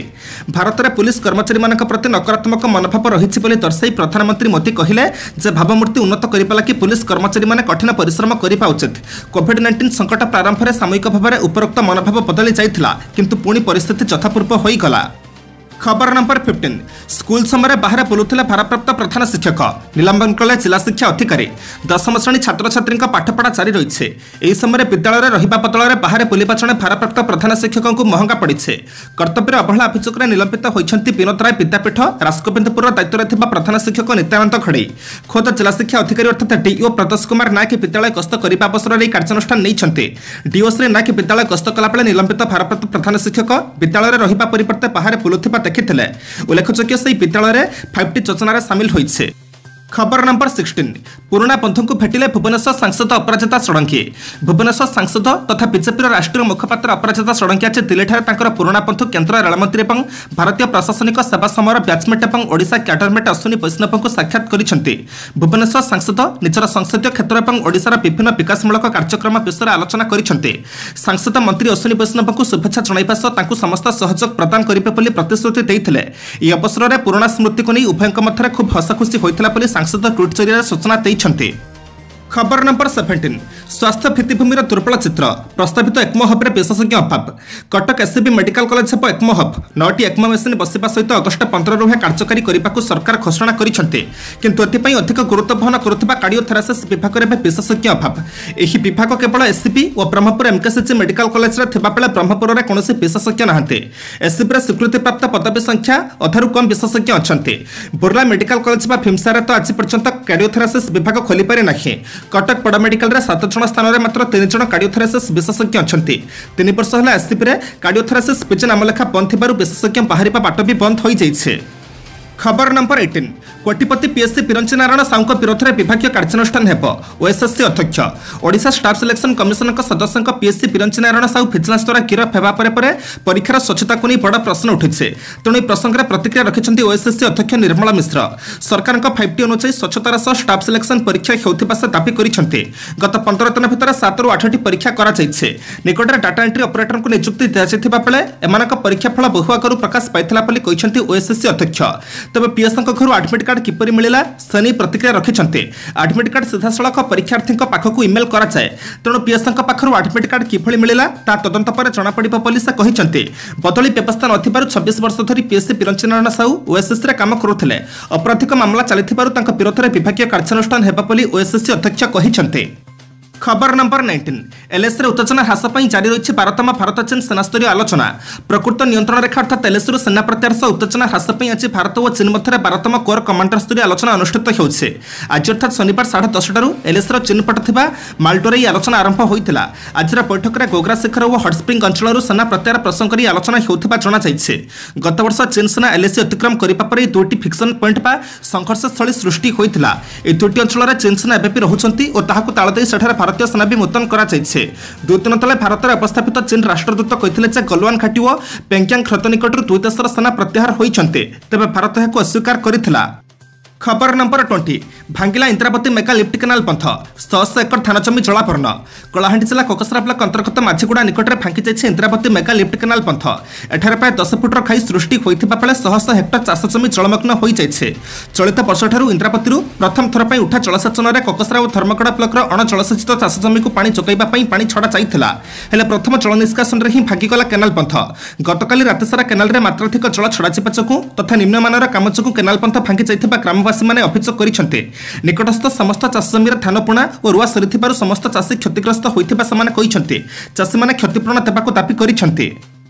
ଭାରତରେ ପୁଲିସ କର୍ମଚାରୀମାନଙ୍କ ପ୍ରତି ନକାରାତ୍ମକ ମନୋଭାବ ରହିଛି ବୋଲି ଦର୍ଶାଇ ପ୍ରଧାନମନ୍ତ୍ରୀ ମୋଦି କହିଲେ ଯେ ଭାବମୂର୍ତ୍ତି ଉନ୍ନତ କରିବା ଲାଗି ପୁଲିସ କର୍ମଚାରୀମାନେ କଠିନ ପରିଶ୍ରମ କରିବା ଉଚିତ କୋଭିଡ୍ ନାଇଣ୍ଟିନ୍ ସଙ୍କଟ ପ୍ରାରମ୍ଭରେ ସାମୟିକ ଭାବରେ ଉପରୋକ୍ତ ମନୋଭାବ ବଦଳି ଯାଇଥିଲା କିନ୍ତୁ ପୁଣି ପରିସ୍ଥିତି ଯଥାପୂର୍ବ ହୋଇଗଲା ଖବର ନମ୍ବର ଫିଫ୍ଟିନ୍ ସ୍କୁଲ ସମୟରେ ବାହାରେ ବୁଲୁଥିଲେ ଭାରପ୍ରାପ୍ତ ପ୍ରଧାନ ଶିକ୍ଷକ ନିଲମ୍ବନ କଲେ ଜିଲ୍ଲା ଶିକ୍ଷା ଅଧିକାରୀ ଦଶମ ଶ୍ରେଣୀ ଛାତ୍ରଛାତ୍ରୀଙ୍କ ପାଠପଢ଼ା ଜାରି ରହିଛି ଏହି ସମୟରେ ବିଦ୍ୟାଳୟରେ ରହିବା ବଦଳରେ ବାହାରେ ବୁଲିବା ଜଣେ ଭାରପ୍ରାପ୍ତ ପ୍ରଧାନ ଶିକ୍ଷକଙ୍କୁ ମହଙ୍ଗା ପଡ଼ିଛି କର୍ତ୍ତବ୍ୟରେ ଅବହେଳା ଅଭିଯୋଗରେ ନିଲମ୍ବିତ ହୋଇଛନ୍ତି ବିନୋଦ ରାୟ ବିଦ୍ୟାପୀଠ ରାସଗୋବିନ୍ଦପୁରର ଦାୟିତ୍ୱରେ ଥିବା ପ୍ରଧାନ ଶିକ୍ଷକ ନିତ୍ୟାନନ୍ଦ ଘଡ଼େଇ ଖୋଦ ଜିଲ୍ଲା ଶିକ୍ଷା ଅଧିକାରୀ ଅର୍ଥାତ୍ ଡିଇଓ ପ୍ରଦୋଷ କୁମାର ନାୟକ ବିଦ୍ୟାଳୟ ଗସ୍ତ କରିବା ଅବସରରେ ଏହି କାର୍ଯ୍ୟାନୁଷ୍ଠାନ ନେଇଛନ୍ତି ଡିଓ ଶ୍ରୀ ନାୟକ ବିଦ୍ୟାଳୟ ଗସ୍ତ କଲାବେଳେ ନିଲମ୍ବିତ ଭାରପ୍ରାପ୍ତ ପ୍ରଧାନ ଶିକ୍ଷକ ବିଦ୍ୟାଳୟରେ ରହିବା ପରିବର୍ତ୍ତେ ବାହାରେ ବୁଲୁଥିବା ଦେଖିଥିଲେ ଉଲ୍ଲେଖଯୋଗ୍ୟ ସେହି ବିଦ୍ୟାଳୟରେ ଫାଇଭ୍ ଟି ଯୋଜନାରେ ସାମିଲ ହୋଇଛି ଖବର ନମ୍ବର ସିକ୍ସଟିନ୍ ପୁରୁଣା ବନ୍ଧୁଙ୍କୁ ଭେଟିଲେ ଭୁବନେଶ୍ୱର ସାଂସଦ ଅପରାଜିତା ଷଡ଼ଙ୍ଗୀ ଭୁବନେଶ୍ୱର ସାଂସଦ ତଥା ବିଜେପିର ରାଷ୍ଟ୍ରୀୟ ମୁଖପାତ୍ର ଅପରାଜିତା ଷଡ଼ଙ୍ଗୀ ଆଜି ଦିଲ୍ଲୀଠାରେ ତାଙ୍କର ପୁରୁଣା ବନ୍ଧୁ କେନ୍ଦ୍ର ରେଳମନ୍ତ୍ରୀ ଏବଂ ଭାରତୀୟ ପ୍ରଶାସନିକ ସେବା ସମୟର ବ୍ୟାଚମେଟ୍ ଏବଂ ଓଡ଼ିଶା କ୍ୟାଡରମେଟ୍ ଅଶ୍ୱିନୀ ବୈଷ୍ଣବଙ୍କୁ ସାକ୍ଷାତ କରିଛନ୍ତି ଭୁବନେଶ୍ୱର ସାଂସଦ ନିଜର ସଂସଦୀୟ କ୍ଷେତ୍ର ଏବଂ ଓଡ଼ିଶାର ବିଭିନ୍ନ ବିକାଶମୂଳକ କାର୍ଯ୍ୟକ୍ରମ ବିଷୟରେ ଆଲୋଚନା କରିଛନ୍ତି ସାଂସଦ ମନ୍ତ୍ରୀ ଅଶ୍ୱିନୀ ବୈଷ୍ଣବଙ୍କୁ ଶୁଭେଚ୍ଛା ଜଣାଇବା ସହ ତାଙ୍କୁ ସମସ୍ତ ସହଯୋଗ ପ୍ରଦାନ କରିବେ ବୋଲି ପ୍ରତିଶ୍ରୁତି ଦେଇଥିଲେ ଏହି ଅବସରରେ ପୁରୁଣା ସ୍ମୃତିକୁ ନେଇ ଉଭୟଙ୍କ ମଧ୍ୟରେ ଖୁବ୍ ହସଖୁସି ହୋଇଥିଲା ବୋଲି ସାଂସଦ ଟ୍ୱିଟ୍ ଜରିଆରେ ସୂଚନା ଦେଇଛନ୍ତି ଖବର ନମ୍ବର ସେଭେଣ୍ଟିନ୍ ସ୍ୱାସ୍ଥ୍ୟ ଭିତ୍ତିଭୂମିର ଦୁର୍ବଳ ଚିତ୍ର ପ୍ରସ୍ତାବିତ ଏକ୍ମୋ ହବ୍ରେ ବିଶେଷଜ୍ଞ ଅଭାବ କଟକ ଏସ୍ସିବି ମେଡିକାଲ କଲେଜ ହେବ ଏକ୍ମୋ ହବ୍ ନଅଟି ଏକ୍ମୋ ମେସିନ୍ ବସିବା ସହିତ ଅଗଷ୍ଟ ପନ୍ଦରରୁ ଏହା କାର୍ଯ୍ୟକାରୀ କରିବାକୁ ସରକାର ଘୋଷଣା କରିଛନ୍ତି କିନ୍ତୁ ଏଥିପାଇଁ ଅଧିକ ଗୁରୁତ୍ୱ ବହନ କରୁଥିବା କାର୍ଡିଓଥୋରାସିସ୍ ବିଭାଗରେ ଏବେ ବିଶେଷଜ୍ଞ ଅଭାବ ଏହି ବିଭାଗ କେବଳ ଏସ୍ସିବି ଓ ବ୍ରହ୍ମପୁର ଏମ୍କେସିଜି ମେଡିକାଲ କଲେଜରେ ଥିବାବେଳେ ବ୍ରହ୍ମପୁରରେ କୌଣସି ବିଶେଷଜ୍ଞ ନାହାନ୍ତି ଏସ୍ସିବିରେ ସ୍ୱୀକୃତିପ୍ରାପ୍ତ ପଦବୀ ସଂଖ୍ୟା ଅଧାରୁ କମ୍ ବିଶେଷଜ୍ଞ ଅଛନ୍ତି ବୁର୍ଲା ମେଡିକାଲ କଲେଜ ବା ଭୀମସାରରେ ତ ଆଜି ପର୍ଯ୍ୟନ୍ତ କାର୍ଡିଓଥୋରାସିସ୍ ବିଭାଗ ଖୋଲିପାରି ନାହିଁ କଟକ ବଡ଼ ମେଡିକାଲରେ ସାତ ଜଣ ସ୍ଥାନରେ ମାତ୍ର ତିନି ଜଣ କାର୍ଡିଓଥୋରାସିସ୍ ବିଶେଷଜ୍ଞ ଅଛନ୍ତି ତିନି ବର୍ଷ ହେଲା ଏସ୍ସିବିରେ କାର୍ଡିଓଥୋରାସିସ୍ ପିଜି ନାମଲେଖା ବନ୍ଦ ଥିବାରୁ ବିଶେଷଜ୍ଞ ବାହାରିବା ବାଟ ବି ବନ୍ଦ ହୋଇଯାଇଛି ଖବର ନମ୍ବର ଏଇଟିନ୍ କୋଟିପତି ପିଏସ୍ସି ବିରଞ୍ଚି ନାରାୟଣ ସାହୁଙ୍କ ବିରୋଧରେ ବିଭାଗୀୟ କାର୍ଯ୍ୟାନୁଷ୍ଠାନ ହେବ ଓଏସ୍ଏସ୍ସି ଅଧ୍ୟକ୍ଷ ଓଡ଼ିଶା ଷ୍ଟାଫ୍ ସିଲେକ୍ସନ୍ କମିଶନଙ୍କ ସଦସ୍ୟଙ୍କ ପିଏସ୍ସି ବିରଞ୍ଚି ନାରାୟଣ ସାହୁ ଭିଜିଲାନ୍ସ ଦ୍ୱାରା ଗିରଫ ହେବା ପରେ ପରେ ପରୀକ୍ଷାର ସ୍ୱଚ୍ଛତାକୁ ନେଇ ବଡ଼ ପ୍ରଶ୍ନ ଉଠିଛି ତେଣୁ ଏହି ପ୍ରସଙ୍ଗରେ ପ୍ରତିକ୍ରିୟା ରଖିଛନ୍ତି ଓଏସ୍ଏସ୍ସି ଅଧ୍ୟକ୍ଷ ନିର୍ମଳା ମିଶ୍ର ସରକାରଙ୍କ ଫାଇଭ୍ ଟି ଅନୁଯାୟୀ ସ୍ୱଚ୍ଛତାର ସହ ଷ୍ଟାଫ୍ ସିଲେକ୍ସନ୍ ପରୀକ୍ଷା ହେଉଥିବା ସେ ଦାବି କରିଛନ୍ତି ଗତ ପନ୍ଦର ଦିନ ଭିତରେ ସାତରୁ ଆଠଟି ପରୀକ୍ଷା କରାଯାଇଛି ନିକଟରେ ଡାଟା ଏଣ୍ଟ୍ରି ଅପରେଟରଙ୍କୁ ନିଯୁକ୍ତି ଦିଆଯାଇଥିବା ବେଳେ ଏମାନଙ୍କ ପରୀକ୍ଷା ଫଳ ବହୁ ଆଗରୁ ପ୍ରକାଶ ପାଇଥିଲା ବୋଲି କହିଛନ୍ତି ଓଏସ୍ଏସ୍ସି ଅଧ୍ୟକ୍ଷ ତେବେ ପିଏସ୍ଙ୍କ ଘରୁ ଆଡମିଟ୍ କାର୍ଡ କିପରି ମିଳିଲା ସେ ନେଇ ପ୍ରତିକ୍ରିୟା ରଖିଛନ୍ତି ଆଡମିଟ୍ କାର୍ଡ ସିଧାସଳଖ ପରୀକ୍ଷାର୍ଥୀଙ୍କ ପାଖକୁ ଇମେଲ୍ କରାଯାଏ ତେଣୁ ପିଏସ୍ଙ୍କ ପାଖରୁ ଆଡମିଟ୍ କାର୍ଡ କିଭଳି ମିଳିଲା ତାହା ତଦନ୍ତ ପରେ ଜଣାପଡ଼ିବ ବୋଲି ସେ କହିଛନ୍ତି ବଦଳି ବ୍ୟବସ୍ଥା ନଥିବାରୁ ଛବିଶ ବର୍ଷ ଧରି ପିଏସ୍ସି ବିରଞ୍ଚି ନାରାୟଣ ସାହୁ ଓଏସ୍ଏସ୍ସିରେ କାମ କରୁଥିଲେ ଅପରାଧିକ ମାମଲା ଚାଲିଥିବାରୁ ତାଙ୍କ ବିରୋଧରେ ବିଭାଗୀୟ କାର୍ଯ୍ୟାନୁଷ୍ଠାନ ହେବ ବୋଲି ଓଏସ୍ଏସ୍ସି ଅଧ୍ୟକ୍ଷ କହିଛନ୍ତି ଖବର ନମ୍ବର ନାଇଣ୍ଟିନ୍ ଏଲ୍ଏସିରେ ଉତ୍ତେଜନା ହ୍ରାସ ପାଇଁ ଜାରି ରହିଛି ବାରତମ ଭାରତ ଚୀନ ସେନାସ୍ତରୀୟ ଆଲୋଚନା ପ୍ରକୃତ ନିୟନ୍ତ୍ରଣ ରେଖା ଅର୍ଥାତ୍ ଏଲ୍ଏସିରୁ ସେନା ପ୍ରତ୍ୟାହାର ସହ ଉତ୍ତେଜନା ହ୍ରାସ ପାଇଁ ଆଜି ଭାରତ ଓ ଚୀନ ମଧ୍ୟରେ ବାରତମ କୋର କମାଣ୍ଡର ସ୍ତରୀୟ ଆଲୋଚନା ଅନୁଷ୍ଠିତ ହେଉଛି ଆଜି ଅର୍ଥାତ୍ ଶନିବାର ସାଢ଼େ ଦଶଟାରୁ ଏଲ୍ଏସିର ଚୀନ ପଟେ ଥିବା ମାଲ୍ଟୋରେ ଏହି ଆଲୋଚନା ଆରମ୍ଭ ହୋଇଥିଲା ଆଜିର ବୈଠକରେ ଗୋଗ୍ରା ଶିଖର ଓ ହଟସ୍ପ୍ରିଙ୍ଗ ଅଞ୍ଚଳରୁ ସେନା ପ୍ରତ୍ୟାହାର ପ୍ରସଙ୍ଗରେ ଏହି ଆଲୋଚନା ହେଉଥିବା ଜଣାଯାଇଛି ଗତବର୍ଷ ଚୀନ ସେନା ଏଲ୍ଏସି ଅତିକ୍ରମ କରିବା ପରେ ଏହି ଦୁଇଟି ଫ୍ରିକ୍ସନ୍ ପଏଣ୍ଟ ବା ସଂଘର୍ଷସ୍ଥଳୀ ସୃଷ୍ଟି ହୋଇଥିଲା ଏହି ଦୁଇଟି ଅଞ୍ଚଳରେ ଚୀନ ସେନା ଏବେ ବି ରହୁଛନ୍ତି ଓ ତାହାକୁ ତାଳ ଦେଇ ସେଠାରେ ଭାରତୀୟ ସେନା ବି ମୁତୟନ କରାଯାଇଛି ଦୁଇ ଦିନ ତଳେ ଭାରତରେ ଅବସ୍ଥାପିତ ଚୀନ ରାଷ୍ଟ୍ରଦୂତ କହିଥିଲେ ଯେ ଗଲୱାନ ଘାଟି ଓ ପେଙ୍ଗ୍ୟାଙ୍ଗ ହ୍ରଦ ନିକଟରୁ ଦୁଇ ଦେଶର ସେନା ପ୍ରତ୍ୟାହାର ହୋଇଛନ୍ତି ତେବେ ଭାରତ ଏହାକୁ ଅସ୍ୱୀକାର କରିଥିଲା ଖବର ନମ୍ବର ଟ୍ୱେଣ୍ଟି ଭାଙ୍ଗିଲା ଇନ୍ଦ୍ରାବତୀ ମେଗା ଲିଫ୍ଟ କେନାଲ ବନ୍ଧ ଶହ ଶହ ଏକର ଧାନ ଜମି ଜଳାପନ୍ନ କଳାହାଣ୍ଡି ଜିଲ୍ଲା କୋକସରା ବ୍ଲକ ଅନ୍ତର୍ଗତ ମାଝିଗୁଡ଼ା ନିକଟରେ ଭାଙ୍ଗିଯାଇଛି ଇନ୍ଦ୍ରାବତୀ ମେଗା ଲିଫ୍ଟ କେନାଲ ବନ୍ଧ ଏଠାରେ ପ୍ରାୟ ଦଶ ଫୁଟର ଖାଇ ସୃଷ୍ଟି ହୋଇଥିବା ବେଳେ ଶହ ଶହ ହେକ୍ଟର ଚାଷ ଜମି ଜଳମଗ୍ନ ହୋଇଯାଇଛି ଚଳିତ ବର୍ଷଠାରୁ ଇନ୍ଦ୍ରାବତୀରୁ ପ୍ରଥମ ଥର ପାଇଁ ଉଠା ଜଳସେଚନରେ କୋକସରା ଓ ଧର୍ମଗଡ଼ ବ୍ଲକର ଅଣଜଳସେଚିତ ଚାଷ ଜମିକୁ ପାଣି ଯୋଗାଇବା ପାଇଁ ପାଣି ଛଡ଼ା ଯାଇଥିଲା ହେଲେ ପ୍ରଥମ ଜଳ ନିଷ୍କାସନରେ ହିଁ ଭାଙ୍ଗିଗଲା କେନାଲ ବନ୍ଧ ଗତକାଲି ରାତିସାରା କେନାଲରେ ମାତ୍ରାଧିକ ଜଳ ଛଡ଼ାଯିବା ଯୋଗୁଁ ତଥା ନିମ୍ନମାନର କାମ ଯୋଗୁଁ କେନାଲ ବନ୍ଧ ଭାଙ୍ଗି ଯାଇଥିବା ଗ୍ରାମବାସୀମାନେ ଅଭିଯୋଗ କରିଛନ୍ତି ନିକଟସ୍ଥ ସମସ୍ତ ଚାଷ ଜମିରେ ଧାନ ବୁଣା ଓ ରୁଆ ସରିଥିବାରୁ ସମସ୍ତ ଚାଷୀ କ୍ଷତିଗ୍ରସ୍ତ ହୋଇଥିବା ସେମାନେ କହିଛନ୍ତି ଚାଷୀମାନେ କ୍ଷତିପୂରଣ ଦେବାକୁ ଦାବି କରିଛନ୍ତି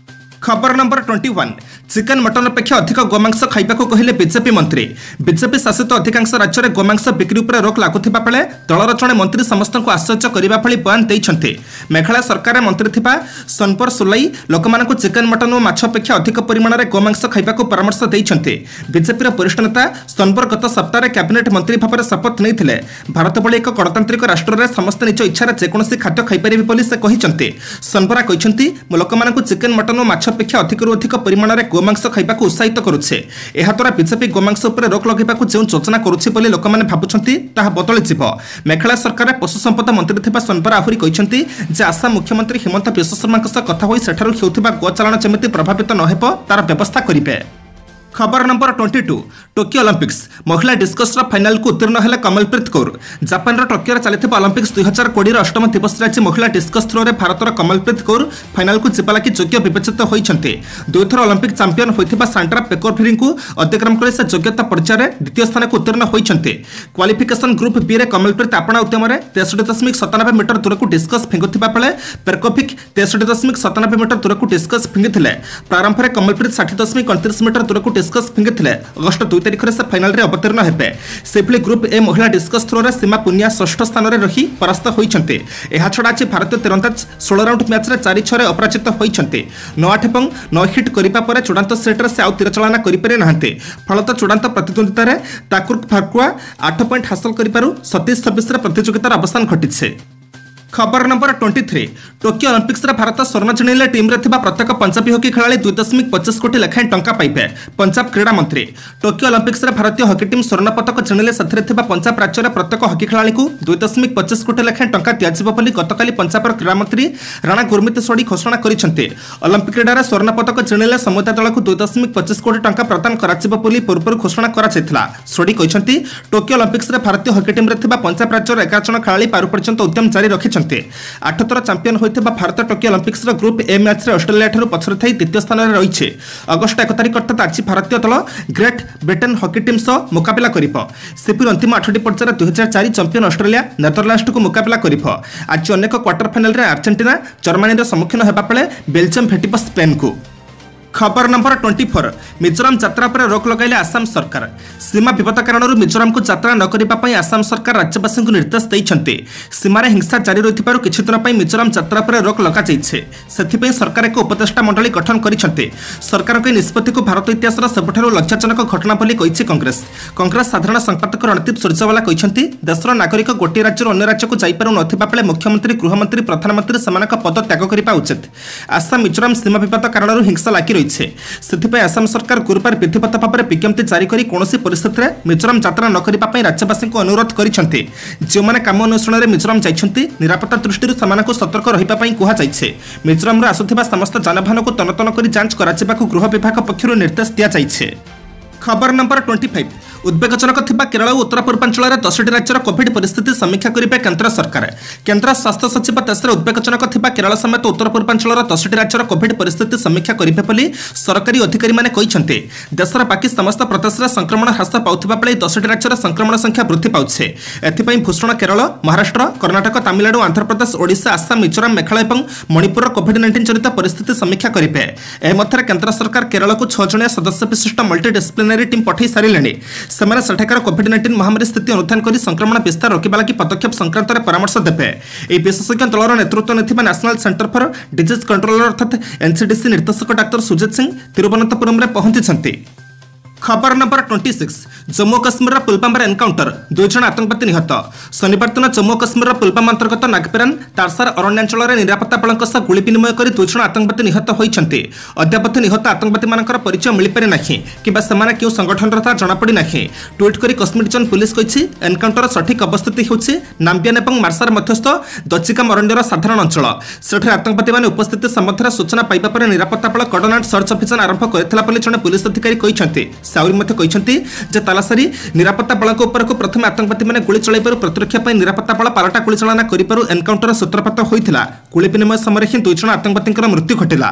ଖବର number twenty one chicken mutton ଅପେକ୍ଷା ଅଧିକ ଗୋମାଂସ ଖାଇବାକୁ କହିଲେ ବିଜେପି ମନ୍ତ୍ରୀ ବିଜେପି ଶାସିତ ଅଧିକାଂଶ ରାଜ୍ୟରେ ଗୋମାଂସ ବିକ୍ରି ଉପରେ ରୋକ ଲାଗୁଥିବା ବେଳେ ଦଳର ଜଣେ ମନ୍ତ୍ରୀ ସମସ୍ତଙ୍କୁ ଆଶ୍ଚର୍ଯ୍ୟ କରିବା ଭଳି ବୟାନ ଦେଇଛନ୍ତି ମେଘାଳୟ ସରକାରରେ ମନ୍ତ୍ରୀ ଥିବା ସନପର ସୁଲାଇ ଲୋକମାନଙ୍କୁ ଚିକେନ୍ ମଟନ୍ ଓ ମାଛ ଅପେକ୍ଷା ଅଧିକ ପରିମାଣରେ ଗୋମାଂସ ଖାଇବାକୁ ପରାମର୍ଶ ଦେଇଛନ୍ତି ବିଜେପିର ବରିଷ୍ଠ ନେତା ସନବର ଗତ ସପ୍ତାହରେ କ୍ୟାବିନେଟ୍ ମନ୍ତ୍ରୀ ଭାବରେ ଶପଥ ନେଇଥିଲେ ଭାରତ ଭଳି ଏକ ଗଣତାନ୍ତ୍ରିକ ରାଷ୍ଟ୍ରରେ ସମସ୍ତେ ନିଜ ଇଚ୍ଛାରେ ଯେକୌଣସି ଖାଦ୍ୟ ଖାଇପାରିବେ ବୋଲି ସେ କହିଛନ୍ତି ସନବରା କହିଛନ୍ତି ମୁଁ ଲୋକମାନଙ୍କୁ ଚିକେନ୍ ମଟନ୍ ଓ ମାଛ ଅପେକ୍ଷା ଅଧିକରୁ ଅଧିକ ପରିମାଣରେ ଗୋମାଂସ ଖାଇବାକୁ ଉତ୍ସାହିତ କରୁଛି ଏହାଦ୍ୱାରା ବିଜେପି ଗୋମାଂସ ଉପରେ ରୋକ ଲଗାଇବାକୁ ଯେଉଁ ଯୋଜନା କରୁଛି ବୋଲି ଲୋକମାନେ ଭାବୁଛନ୍ତି ତାହା ବଦଳିଯିବ ମେଘାଳୟ ସରକାରରେ ପଶୁ ସମ୍ପଦ ମନ୍ତ୍ରୀ ଥିବା ସନବରା ଆହୁରି କହିଛନ୍ତି ଯେ ଆସାମ ମୁଖ୍ୟମନ୍ତ୍ରୀ ହିମନ୍ତ ବିଶ୍ୱଶର୍ମାଙ୍କ ସହ କଥା ହୋଇ ସେଠାରୁ ହେଉଥିବା ଗୋ ଚାଲାଣ ଯେମିତି ପ୍ରଭାବିତ ନ ହେବ ତାର ବ୍ୟବସ୍ଥା କରିବେ ଖବର number twenty two Tokyo Olympics ମହିଳା ଡିସ୍କସ୍ର ଫାଇନାଲକୁ ଉତ୍ତୀର୍ଣ୍ଣ ହେଲେ କମଲପ୍ରୀତ କୌର ଜାପାନର ଟୋକିଓରେ ଚାଲିଥିବା ଅଲିମ୍ପିକ୍ସ ଦୁଇ ହଜାର କୋଡ଼ିଏର ଅଷ୍ଟମ ଦିବସରେ ଆଜି ମହିଳା ଡିସ୍କସ୍ ଥ୍ରୋରେ ଭାରତର କମଲପ୍ରୀତ କୌର ଫାଇନାଲକୁ ଯିବା ଲାଗି ଯୋଗ୍ୟ ବିବେଚିତ ହୋଇଛନ୍ତି ଦୁଇଥର ଅଲିମ୍ପିକ୍ ଚାମ୍ପିୟନ ହୋଇଥିବା ସାଣ୍ଡ୍ରା ପେକୋଭିରିଙ୍କୁ ଅତିକ୍ରମ କରି ସେ ଯୋଗ୍ୟତା ପର୍ଯ୍ୟାୟରେ ଦ୍ୱିତୀୟ ସ୍ଥାନକୁ ଉତ୍ତୀର୍ଣ୍ଣ ହୋଇଛନ୍ତି କ୍ୱାଲିଫିକେସନ ଗ୍ରୁପ୍ ବିରେ କମଲପ୍ରୀତ ଆପଣା ଉଦ୍ୟମରେ ତେଷଠି ଦଶମିକ ସତାନବେ ମିଟର ଦୂରକୁ ଡିସ୍କସ୍ ଫିଙ୍ଗୁଥିବା ବେଳେ ପେରକୋଭିକ୍ ତେଷଠି ଦଶମିକ ସତାନବେ ମିଟର ଦୂରକୁ ଡିସ୍କସ୍ ଫିଙ୍ଗିଥିଲେ ପ୍ରାରମ୍ଭରେ କମଲପ୍ରୀତ ଷାଠିଏ ଦଶମିକ ଅଣତିରିଶ ମିଟର ଦୂରକୁ ଡିସ୍କସ୍ ଫିଙ୍ଗିଥିଲେ ଅଗଷ୍ଟ ଦୁଇ ତାରିଖରେ ସେ ଫାଇନାଲରେ ଅବତୀର୍ଣ୍ଣ ହେବେ ସେଭଳି ଗ୍ରୁପ୍ ଏ ମହିଳା ଡିସ୍କସ୍ ଥ୍ରୋରେ ସୀମା ପୁନିଆ ଷଷ୍ଠ ସ୍ଥାନରେ ରହି ପରାସ୍ତ ହୋଇଛନ୍ତି ଏହାଛଡ଼ା ଆଜି ଭାରତୀୟ ତୀରନ୍ଦାଜ ଷୋହଳ ରାଉଣ୍ଡ ମ୍ୟାଚ୍ରେ ଚାରି ଛଅରେ ଅପରାଜିତ ହୋଇଛନ୍ତି ନଅ ଆଠ ଏବଂ ନଅ ହିଟ୍ କରିବା ପରେ ଚୂଡ଼ାନ୍ତ ସେଟ୍ରେ ସେ ଆଉ ତୀରଚାଳନା କରିପାରି ନାହାନ୍ତି ଫଳତଃ ଚୂଡ଼ାନ୍ତ ପ୍ରତିଦ୍ୱନ୍ଦିତାରେ ତାକୁର ଫାକୁଆ ଆଠ ପଏଣ୍ଟ ହାସଲ କରିବାରୁ ସତେଇଶ ଛବିଶରେ ପ୍ରତିଯୋଗିତାର ଅବସାନ ଘଟିଛି ଖବର ନମ୍ବର ଟ୍ୱେଣ୍ଟି ଥ୍ରୀ ଟୋକିଓ ଅଲିମ୍ପିକ୍ସରେ ଭାରତ ସ୍ୱର୍ଣ୍ଣ ଜିଣିଲେ ଟିମ୍ରେ ଥିବା ପ୍ରତ୍ୟେକ ପଞ୍ଜାବୀ ହକି ଖେଳାଳି ଦୁଇ ଦଶମିକ ପଚିଶ କୋଟି ଲେଖାଏଁ ଟଙ୍କା ପାଇବେ ପଞ୍ଜାବ କ୍ରୀଡ଼ା ମନ୍ତ୍ରୀ ଟୋକିଓ ଅଲିମ୍ପିକ୍ସରେ ଭାରତୀୟ ହକି ଟିମ୍ ସ୍ୱର୍ଣ୍ଣ ପଦକ ଜିଣିଲେ ସେଥିରେ ଥିବା ପଞ୍ଜାବ ରାଜ୍ୟର ପ୍ରତ୍ୟେକ ହକି ଖେଳାଳିଙ୍କୁ ଦୁଇ ଦଶମିକ ପଚିଶ କୋଟି ଲେଖାଏଁ ଟଙ୍କା ଦିଆଯିବ ବୋଲି ଗତକାଲି ପଞ୍ଜାବର କ୍ରୀଡ଼ାମନ୍ତ୍ରୀ ରାଣା ଗୁରମିତ ସୋଢୀ ଘୋଷଣା କରିଛନ୍ତି ଅଲିମ୍ପିକ୍ କ୍ରୀଡ଼ାରେ ସ୍ୱର୍ଣ୍ଣ ପଦକ ଜିଣିଲେ ସମୁଦାୟ ଦଳକୁ ଦୁଇ ଦଶମିକ ପଚିଶ କୋଟି ଟଙ୍କା ପ୍ରଦାନ କରାଯିବ ବୋଲି ପୂର୍ବରୁ ଘୋଷଣା କରାଯାଇଥିଲା ସୋଢୀ କହିଛନ୍ତି ଟୋକିଓ ଅଲିମ୍ପିକ୍ସରେ ଭାରତୀୟ ହକି ଟିମ୍ରେ ଥିବା ପଞ୍ଜାବ ରାଜ୍ୟର ଏଗାର ଜଣ ଖେଳାଳି ପାରୁ ପର୍ଯ୍ୟନ୍ତ ଉଦ୍ୟମ ଜାରି ରଖିଛନ୍ତି ଆଠଥର ଚାମ୍ପିୟନ ହୋଇଥିବା ଭାରତ ଟୋକିଓ ଅଲିମ୍ପିକ୍ସର ଗ୍ରୁପ୍ ଏ ମ୍ୟାଚ୍ରେ ଅଷ୍ଟ୍ରେଲିଆଠାରୁ ପଛରେ ଥାଇ ଦ୍ୱିତୀୟ ସ୍ଥାନରେ ରହିଛି ଅଗଷ୍ଟ ଏକ ତାରିଖ ଅର୍ଥାତ୍ ଆଜି ଭାରତୀୟ ଦଳ ଗ୍ରେଟ୍ ବ୍ରିଟେନ୍ ହକି ଟିମ୍ ସହ ମୁକାବିଲା କରିବ ସେପରି ଅନ୍ତିମ ଆଠଟି ପର୍ଯ୍ୟାୟରେ ଦୁଇହଜାର ଚାରି ଚାମ୍ପିୟନ ଅଷ୍ଟ୍ରେଲିଆ ନେଦରଲ୍ୟାଣ୍ଡସକୁ ମୁକାବିଲା କରିବ ଆଜି ଅନେକ କ୍ୱାର୍ଟର ଫାଇନାଲରେ ଆର୍ଜେଣ୍ଟିନା ଜର୍ମାନୀର ସମ୍ମୁଖୀନ ହେବା ବେଳେ ବେଲଜିୟମ ଭେଟିବ ସ୍ପେନ୍କୁ ଖବର ନମ୍ବର ଟ୍ୱେଣ୍ଟି ଫୋର୍ ମିଜୋରାମ ଯାତ୍ରା ଉପରେ ରୋକ ଲଗାଇଲେ ଆସାମ ସରକାର ସୀମା ବିବାଦ କାରଣରୁ ମିଜୋରାମକୁ ଯାତ୍ରା ନ କରିବା ପାଇଁ ଆସାମ ସରକାର ରାଜ୍ୟବାସୀଙ୍କୁ ନିର୍ଦ୍ଦେଶ ଦେଇଛନ୍ତି ସୀମାରେ ହିଂସା ଜାରି ରହିଥିବାରୁ କିଛି ଦିନ ପାଇଁ ମିଜୋରାମ ଯାତ୍ରା ଉପରେ ରୋକ ଲଗାଯାଇଛି ସେଥିପାଇଁ ସରକାର ଏକ ଉପଦେଷ୍ଟା ମଣ୍ଡଳୀ ଗଠନ କରିଛନ୍ତି ସରକାରଙ୍କ ଏହି ନିଷ୍ପତ୍ତିକୁ ଭାରତ ଇତିହାସର ସବୁଠାରୁ ଲଜ୍ଜାଜନକ ଘଟଣା ବୋଲି କହିଛି କଂଗ୍ରେସ କଂଗ୍ରେସ ସାଧାରଣ ସମ୍ପାଦକ ରଣଦୀପ ସୁରଜେୱାଲା କହିଛନ୍ତି ଦେଶର ନାଗରିକ ଗୋଟିଏ ରାଜ୍ୟରୁ ଅନ୍ୟ ରାଜ୍ୟକୁ ଯାଇପାରୁ ନଥିବା ବେଳେ ମୁଖ୍ୟମନ୍ତ୍ରୀ ଗୃହମନ୍ତ୍ରୀ ପ୍ରଧାନମନ୍ତ୍ରୀ ସେମାନଙ୍କ ପଦ ତ୍ୟାଗ କରିବା ଉଚିତ ଆସାମ ମିଜୋରାମ ସୀମା ବିବାଦ କାରଣରୁ ହିଂସା ଲାଗି ରହିଛି ସେଥିପାଇଁ ଆସାମ ସରକାର ଗୁରୁବାର ବିଧିବଦ୍ଧ ଭାବରେ ବିଜ୍ଞପ୍ତି ଜାରି କରି କୌଣସି ପରିସ୍ଥିତିରେ ମିଜୋରାମ ଯାତ୍ରା ନ କରିବା ପାଇଁ ରାଜ୍ୟବାସୀଙ୍କୁ ଅନୁରୋଧ କରିଛନ୍ତି ଯେଉଁମାନେ କାମ ଅନ୍ୱେଷଣରେ ମିଜୋରାମ ଯାଇଛନ୍ତି ନିରାପତ୍ତା ଦୃଷ୍ଟିରୁ ସେମାନଙ୍କୁ ସତର୍କ ରହିବା ପାଇଁ କୁହାଯାଇଛି ମିଜୋରାମରୁ ଆସୁଥିବା ସମସ୍ତ ଯାନବାହନକୁ ତନତନ କରି ଯାଞ୍ଚ କରାଯିବାକୁ ଗୃହ ବିଭାଗ ପକ୍ଷରୁ ନିର୍ଦ୍ଦେଶ ଦିଆଯାଇଛି ଖବର ନମ୍ବର ଟ୍ୱେଣ୍ଟି ଫାଇଭ୍ ଉଦ୍ବେଗଜନକ ଥିବା କେରଳ ଓ ଉତ୍ତର ପୂର୍ବାଞ୍ଚଳରେ ଦଶଟି ରାଜ୍ୟର କୋଭିଡ୍ ପରିସ୍ଥିତି ସମୀକ୍ଷା କରିବେ କେନ୍ଦ୍ର ସରକାର କେନ୍ଦ୍ର ସ୍ୱାସ୍ଥ୍ୟ ସଚିବ ଦେଶରେ ଉଦ୍ବେଗଜନକ ଥିବା କେରଳ ସମେତ ଉତ୍ତର ପୂର୍ବାଞ୍ଚଳର ଦଶଟି ରାଜ୍ୟର କୋଭିଡ୍ ପରିସ୍ଥିତି ସମୀକ୍ଷା କରିବେ ବୋଲି ସରକାରୀ ଅଧିକାରୀମାନେ କହିଛନ୍ତି ଦେଶର ବାକି ସମସ୍ତ ପ୍ରଦେଶରେ ସଂକ୍ରମଣ ହ୍ରାସ ପାଉଥିବା ବେଳେ ଏହି ଦଶଟି ରାଜ୍ୟର ସଂକ୍ରମଣ ସଂଖ୍ୟା ବୃଦ୍ଧି ପାଉଛି ଏଥିପାଇଁ ଭୂଷଣ କେରଳ ମହାରାଷ୍ଟ୍ର କର୍ଣ୍ଣାଟକ ତାମିଲନାଡୁ ଆନ୍ଧ୍ରପ୍ରଦେଶ ଓଡ଼ିଶା ଆସାମ ମିଜୋରାମ ମେଘାଳୟ ଏବଂ ମଣିପୁରର କୋଭିଡ୍ ନାଇଣ୍ଟିନ୍ ଜନିତ ପରିସ୍ଥିତି ସମୀକ୍ଷା କରିବେ ଏହା ମଧ୍ୟରେ କେନ୍ଦ୍ର ସରକାର କେରଳକୁ ଛଅ ଜଣିଆ ସଦସ୍ୟ ବିଶିଷ୍ଟ ମଲ୍ଟି ଡିସିପ୍ଲିନାରୀ ଟିମ୍ ପଠାଇ ସାରିଲେଣି ସେମାନେ ସେଠାକାର କୋଭିଡ୍ ନାଇଣ୍ଟିନ୍ ମହାମାରୀ ସ୍ଥିତି ଅନୁଧ୍ୟାନ କରି ସଂକ୍ରମଣ ବିସ୍ତାର ରୋକିବା ଲାଗି ପଦକ୍ଷେପ ସଂକ୍ରାନ୍ତରେ ପରାମର୍ଶ ଦେବେ ଏହି ବିଶେଷଜ୍ଞ ଦଳର ନେତୃତ୍ୱ ନେଇଥିବା national centre for disease controller ଅର୍ଥାତ୍ ଏନ୍ସିଡିସି ନିର୍ଦ୍ଦେଶକ ଡାକ୍ତର ସୁଜିତ ସିଂ ତିରୁବନନ୍ତପୁରମରେ ପହଞ୍ଚିଛନ୍ତି ଖବର ନମ୍ବର ଟ୍ୱେଣ୍ଟି ସିକ୍ସ ଜମ୍ମୁ କାଶ୍ମୀରର ପୁଲୱାମାରେ ଏନକାଉଣ୍ଟର ଦୁଇ ଜଣ ଆତଙ୍କବାଦୀ ନିହତ ଶନିବାର ଦିନ ଜମ୍ମୁ କାଶ୍ମୀରର ପୁଲୱାମା ଅନ୍ତର୍ଗତ ନାଗପେରାନ ତାରସାର ଅରଣ୍ୟାଞ୍ଚଳରେ ନିରାପତ୍ତା ବଳଙ୍କ ସହ ଗୁଳି ବିନିମୟ କରି ଦୁଇ ଜଣ ଆତଙ୍କବାଦୀ ନିହତ ହୋଇଛନ୍ତି ଅଦ୍ୟାବଧି ନିହତ ଆତଙ୍କବାଦୀମାନଙ୍କର ପରିଚୟ ମିଳିପାରି ନାହିଁ କିମ୍ବା ସେମାନେ କେଉଁ ସଂଗଠନର ତାହା ଜଣାପଡ଼ି ନାହିଁ ଟ୍ୱିଟ୍ କରି କଶ୍ମୀର ଜୋନ୍ ପୁଲିସ କହିଛି ଏନକାଉଣ୍ଟର ସଠିକ୍ ଅବସ୍ଥିତି ହେଉଛି ନାମ୍ବିଆନ ଏବଂ ମାର୍ସାର ମଧ୍ୟସ୍ଥ ଦଚିକାମ ଅରଣ୍ୟର ସାଧାରଣ ଅଞ୍ଚଳ ସେଠାରେ ଆତଙ୍କବାଦୀମାନେ ଉପସ୍ଥିତି ସମ୍ବନ୍ଧରେ ସୂଚନା ପାଇବା ପରେ ନିରାପତ୍ତା ବଳ କର୍ଡନ ଆଣ୍ଡ ସର୍ଚ୍ଚ ଅଭିଯାନ ଆରମ୍ଭ କରିଥିଲା ବୋଲି ଜଣେ ପୁଲିସ ଅଧିକାରୀ କହିଛନ୍ତି ସେ ଆହୁରି ମଧ୍ୟ କହିଛନ୍ତି ଯେ ତାଲାସାରି ନିରାପତ୍ତା ବଳଙ୍କ ଉପରକୁ ପ୍ରଥମେ ଆତଙ୍କବାଦୀମାନେ ଗୁଳି ଚଳାଇବାରୁ ପ୍ରତିରକ୍ଷା ପାଇଁ ନିରାପତ୍ତା ବଳ ପାଲଟା ଗୁଳିଚାଳନା କରିବାରୁ ଏନକାଉଣ୍ଟର ସୂତ୍ରପାତ ହୋଇଥିଲା ଗୁଳି ବିନିମୟ ସମୟରେ ହିଁ ଦୁଇ ଜଣ ଆତଙ୍କବାଦୀଙ୍କର ମୃତ୍ୟୁ ଘଟିଲା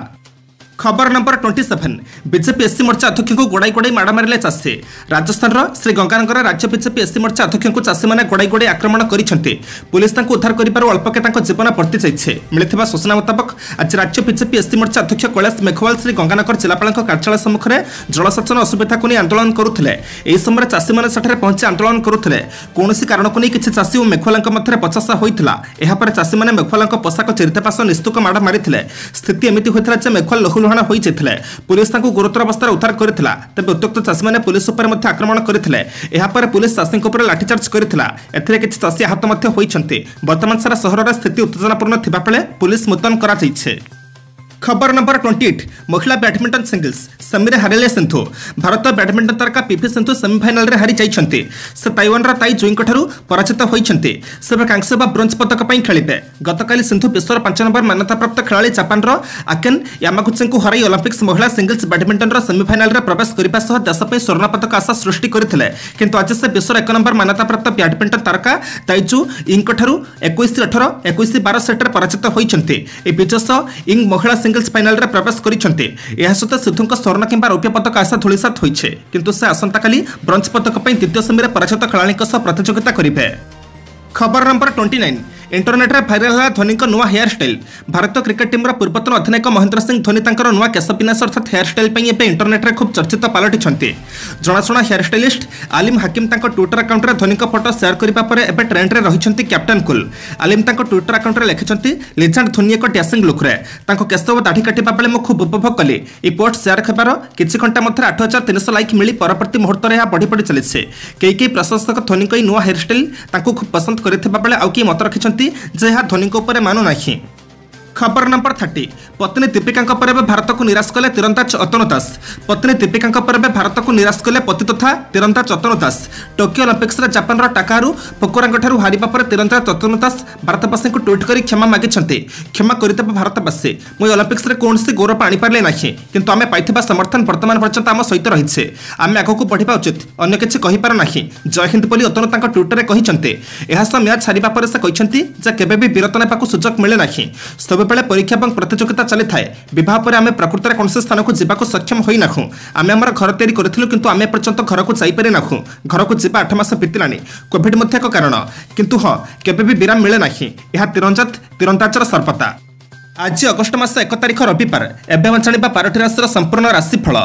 ଖବର number twenty seven BJP SC Morcha ଅଧ୍ୟକ୍ଷଙ୍କୁ ଗୋଡ଼ାଇ ଗୋଡ଼ାଇ ମାଡ଼ ମାରିଲେ ଚାଷୀ ରାଜସ୍ଥାନର ଶ୍ରୀ ଗଙ୍ଗାନଗର ରାଜ୍ୟ ବିଜେପି ଏସ୍ସି ମୋର୍ଚ୍ଚା ଅଧ୍ୟକ୍ଷଙ୍କୁ ଚାଷୀମାନେ ଗୋଡ଼ାଇ ଗୋଡ଼ାଇ ଆକ୍ରମଣ କରିଛନ୍ତି ପୁଲିସ ତାଙ୍କୁ ଉଦ୍ଧାର କରିବାରୁ ଅଳ୍ପକେ ତାଙ୍କ ଜୀବନ ବର୍ତ୍ତି ଯାଇଛି ମିଳିଥିବା ସୂଚନା ମୁତାବକ ଆଜି ରାଜ୍ୟ ବିଜେପି ଏସ୍ସି ମୋର୍ଚ୍ଚା ଅଧ୍ୟକ୍ଷ କୈଳାସ ମେଘୱାଲ ଶ୍ରୀ ଗଙ୍ଗାନଗର ଜିଲ୍ଲାପାଳଙ୍କ କାର୍ଯ୍ୟାଳୟ ସମ୍ମୁଖରେ ଜଳସେଚନ ଅସୁବିଧାକୁ ନେଇ ଆନ୍ଦୋଳନ କରୁଥିଲେ ଏହି ସମୟରେ ଚାଷୀମାନେ ସେଠାରେ ପହଞ୍ଚି ଆନ୍ଦୋଳନ କରୁଥିଲେ କୌଣସି କାରଣକୁ ନେଇ କିଛି ଚାଷୀ ଓ ମେଘୱାଲଙ୍କ ମଧ୍ୟରେ ବଚସା ହୋଇଥିଲା ଏହାପରେ ଚାଷୀମାନେ ମେଘୱାଲଙ୍କ ପୋଷାକ ଚିରିଦେବା ସହ ନିସ୍ତୁକ ମାଡ଼ ମାରିଥିଲେ ସ୍ଥିତି ଏମିତି ହୋଇଥିଲା ଯେ ମେଘୱାଲ ଲହୁଲୁହାଣ ହୋଇଯାଇଥିଲେ ପୁଲିସ ତାଙ୍କୁ ଗୁରୁତର ଅବସ୍ଥାରେ ଉଦ୍ଧାର କରିଥିଲା ତେବେ ଉତ୍ତ୍ୟକ୍ତ ଚାଷୀମାନେ ପୁଲିସ ଉପରେ ମଧ୍ୟ ଆକ୍ରମଣ କରିଥିଲେ ଏହାପରେ ପୁଲିସ ଚାଷୀଙ୍କ ଉପରେ ଲାଠିଚାର୍ଜ କରିଥିଲା ଏଥିରେ କିଛି ଚାଷୀ ଆହତ ମଧ୍ୟ ହୋଇଛନ୍ତି ବର୍ତ୍ତମାନ ସାରା ସହରରେ ସ୍ଥିତି ଉତ୍ତେଜନାପୂର୍ଣ୍ଣ ଥିବାବେଳେ ପୁଲିସ ମୁତୟନ କରାଯାଇଛି ଖବର ନମ୍ବର ଟ୍ୱେଣ୍ଟି ଏଇଟ୍ ମହିଳା ବ୍ୟାଡମିଣ୍ଟନ ସିଙ୍ଗଲ୍ସ ସେମିରେ ହାରିଲେ ସିନ୍ଧୁ ଭାରତ ବ୍ୟାଡମିଣ୍ଟନ ତାରକା ପିଭି ସିନ୍ଧୁ ସେମିଫାଇନାଲରେ ହାରି ଯାଇଛନ୍ତି ସେ ତାଇୱାନର ତାଇ ଜୁଇଙ୍କଠାରୁ ପରାଜିତ ହୋଇଛନ୍ତି ସେ ଏବେ କାଂସ୍ୟ ବା ବ୍ରୋଞ୍ଜ ପଦକ ପାଇଁ ଖେଳିବେ ଗତକାଲି ସିନ୍ଧୁ ବିଶ୍ୱର ପାଞ୍ଚ ନମ୍ବର ମାନ୍ୟତାପ୍ରାପ୍ତ ଖେଳାଳି ଜାପାନର ଆକେନ୍ ୟାମାଗୁଚିଙ୍କୁ ହରାଇ ଅଲିମ୍ପିକ୍ସ ମହିଳା ସିଙ୍ଗଲ୍ସ ବ୍ୟାଡମିଣ୍ଟନର ସେମିଫାଇନାଲରେ ପ୍ରବେଶ କରିବା ସହ ଦେଶ ପାଇଁ ସ୍ୱର୍ଣ୍ଣ ପଦକ ଆଶା ସୃଷ୍ଟି କରିଥିଲେ କିନ୍ତୁ ଆଜି ସେ ବିଶ୍ୱର ଏକ ନମ୍ବର ମାନ୍ୟତାପ୍ରାପ୍ତ ବ୍ୟାଡମିଣ୍ଟନ ତାରକା ତାଇଜୁ ଇଙ୍କଠାରୁ ଏକୋଇଶ ଅଠର ଏକୋଇଶ ବାର ସେଟ୍ରେ ପରାଜିତ ହୋଇଛନ୍ତି ଏହି ବିଜୟ ସହ ଇଙ୍ଗ ମହିଳା ସିଙ୍ଗଲ୍ସ ଫାଇନାଲରେ ପ୍ରବେଶ କରିଛନ୍ତି ଏହା ସହିତ ସିନ୍ଧୁଙ୍କ ସ୍ୱର୍ଣ୍ଣ କିମ୍ବା ରୌପ୍ୟ ପଦକ ଆଶା ଧୂଳିସାତ ହୋଇଛି କିନ୍ତୁ ସେ ଆସନ୍ତାକାଲି ବ୍ରୋଞ୍ଜ ପଦକ ପାଇଁ ଦ୍ୱିତୀୟ ସେମିରେ ପରାଜିତ ଖେଳାଳିଙ୍କ ସହ ପ୍ରତିଯୋଗିତା କରିବେ ଖବର ନମ୍ବର ଟ୍ୱେଣ୍ଟି ନାଇନ୍ ଇଣ୍ଟରନେଟ୍ରେ ଭାଇରାଲ ହେଲା ଧୋନିଙ୍କ ନୂଆ ହେୟାର ଷ୍ଟାଇଲ୍ ଭାରତୀୟ କ୍ରିକେଟ୍ ଟିମ୍ର ପୂର୍ବତନ ଅଧିନାୟକ ମହେନ୍ଦ୍ର ସିଂ ଧୋନି ତାଙ୍କର ନୂଆ କେଶ ବିନ୍ୟାସ ଅର୍ଥାତ୍ ହେୟାର ଷ୍ଟାଇଲ୍ ପାଇଁ ଏବେ ଇଣ୍ଟରନେଟ୍ରେ ଖୁବ୍ ଚର୍ଚ୍ଚିତ ପାଲଟିଛନ୍ତି ଜଣାଶୁଣା ହେୟାର ଷ୍ଟାଇଲିଷ୍ଟ ଆଲିମ ହାକିମ ତାଙ୍କ ଟ୍ୱିଟର ଆକାଉଣ୍ଟରେ ଧୋନିଙ୍କ ଫଟୋ ସେୟାର କରିବା ପରେ ଏବେ ଟ୍ରେଣ୍ଡରେ ରହିଛନ୍ତି କ୍ୟାପ୍ଟେନ୍ କୁଲ୍ ଆଲିମ ତାଙ୍କ ଟ୍ୱିଟର ଆକାଉଣ୍ଟରେ ଲେଖିଛନ୍ତି ଲିଜେଣ୍ଡ ଧୋନି ଏକ ଡ୍ୟାସିଂ ଲୁକ୍ରେ ତାଙ୍କ କେଶ ଓ ଦାଢ଼ି କାଟିବା ବେଳେ ମୁଁ ଖୁବ୍ ଉପଭୋଗ କଲି ଏହି ପୋଷ୍ଟ ସେୟାର ହେବାର କିଛି ଘଣ୍ଟା ମଧ୍ୟରେ ଆଠ ହଜାର ତିନିଶହ ଲାଇକ୍ ମିଳି ପରବର୍ତ୍ତୀ ମୁହୂର୍ତ୍ତରେ ଏହା ବଢ଼ି ବଢ଼ି ଚାଲିଛି କେହି କେହି ପ୍ରଶଂସକ ଧୋନିଙ୍କ ଏହି ନୂଆ ହେୟାର ଷ୍ଟାଇଲ୍ ତାଙ୍କୁ ଖୁବ୍ ପସନ୍ଦ କରିଥିବା ବେଳେ ଆଉ କେହି ମତ ରଖିଛନ୍ତି ଯେ ଏହା ଧୋନିଙ୍କ ଉପରେ ମାନୁନାହିଁ ଖବର ନମ୍ବର ଥାର୍ଟି ପତ୍ନୀ ଦୀପିକାଙ୍କ ପରେ ଏବେ ଭାରତକୁ ନିରାଶ କଲେ ତୀରନ୍ଦାଜ ଅତନୁ ଦାସ ପତ୍ନୀ ଦୀପିକାଙ୍କ ପରେ ଏବେ ଭାରତକୁ ନିରାଶ କଲେ ପତି ତଥା ତୀରନ୍ଦାଜ ଅତନୁ ଦାସ ଟୋକିଓ ଅଲିମ୍ପିକ୍ସରେ ଜାପାନର ଟାକାହାରୁ ଫୋକୋରାଙ୍କଠାରୁ ହାରିବା ପରେ ତୀରନ୍ଦାଜ ଅତନୁ ଦାସ ଭାରତବାସୀଙ୍କୁ ଟ୍ୱିଟ୍ କରି କ୍ଷମା ମାଗିଛନ୍ତି କ୍ଷମା କରିଦେବ ଭାରତବାସୀ ମୁଁ ଏହି ଅଲିମ୍ପିକ୍ସରେ କୌଣସି ଗୌରବ ଆଣିପାରିଲି ନାହିଁ କିନ୍ତୁ ଆମେ ପାଇଥିବା ସମର୍ଥନ ବର୍ତ୍ତମାନ ପର୍ଯ୍ୟନ୍ତ ଆମ ସହିତ ରହିଛି ଆମେ ଆଗକୁ ବଢ଼ିବା ଉଚିତ ଅନ୍ୟ କିଛି କହିପାରୁ ନାହିଁ ଜୟ ହିନ୍ଦ ବୋଲି ଅତନୁ ତାଙ୍କ ଟ୍ୱିଟରରେ କହିଛନ୍ତି ଏହା ସହ ମ୍ୟାଚ୍ ହାରିବା ପରେ ସେ କହିଛନ୍ତି ଯେ କେବେ ବି ବିରତି ନେବାକୁ ସୁଯୋଗ ମିଳେ ନାହିଁ ସବୁବେଳେ ପରୀକ୍ଷା ଏବଂ ପ୍ରତିଯୋଗିତା ଚାଲିଥାଏ ବିବାହ ପରେ ଆମେ ପ୍ରକୃତରେ କୌଣସି ସ୍ଥାନକୁ ଯିବାକୁ ସକ୍ଷମ ହୋଇନାହୁଁ ଆମେ ଆମର ଘର ତିଆରି କରିଥିଲୁ କିନ୍ତୁ ଆମେ ଏପର୍ଯ୍ୟନ୍ତ ଘରକୁ ଯାଇପାରି ନାହୁଁ ଘରକୁ ଯିବା ଆଠ ମାସ ବିତିଲାଣି କୋଭିଡ୍ ମଧ୍ୟ ଏକ କାରଣ କିନ୍ତୁ ହଁ କେବେ ବି ବିରାମ ମିଳେ ନାହିଁ ଏହା ତୀରନ୍ଦାଜ ତୀରନ୍ଦାଜର ସର୍ବତା ଆଜି ଅଗଷ୍ଟ ମାସ ଏକ ତାରିଖ ରବିବାର ଏବେ ଆମେ ଜାଣିବା ବାରଟି ରାଶିର ସମ୍ପୂର୍ଣ୍ଣ ରାଶିଫଳ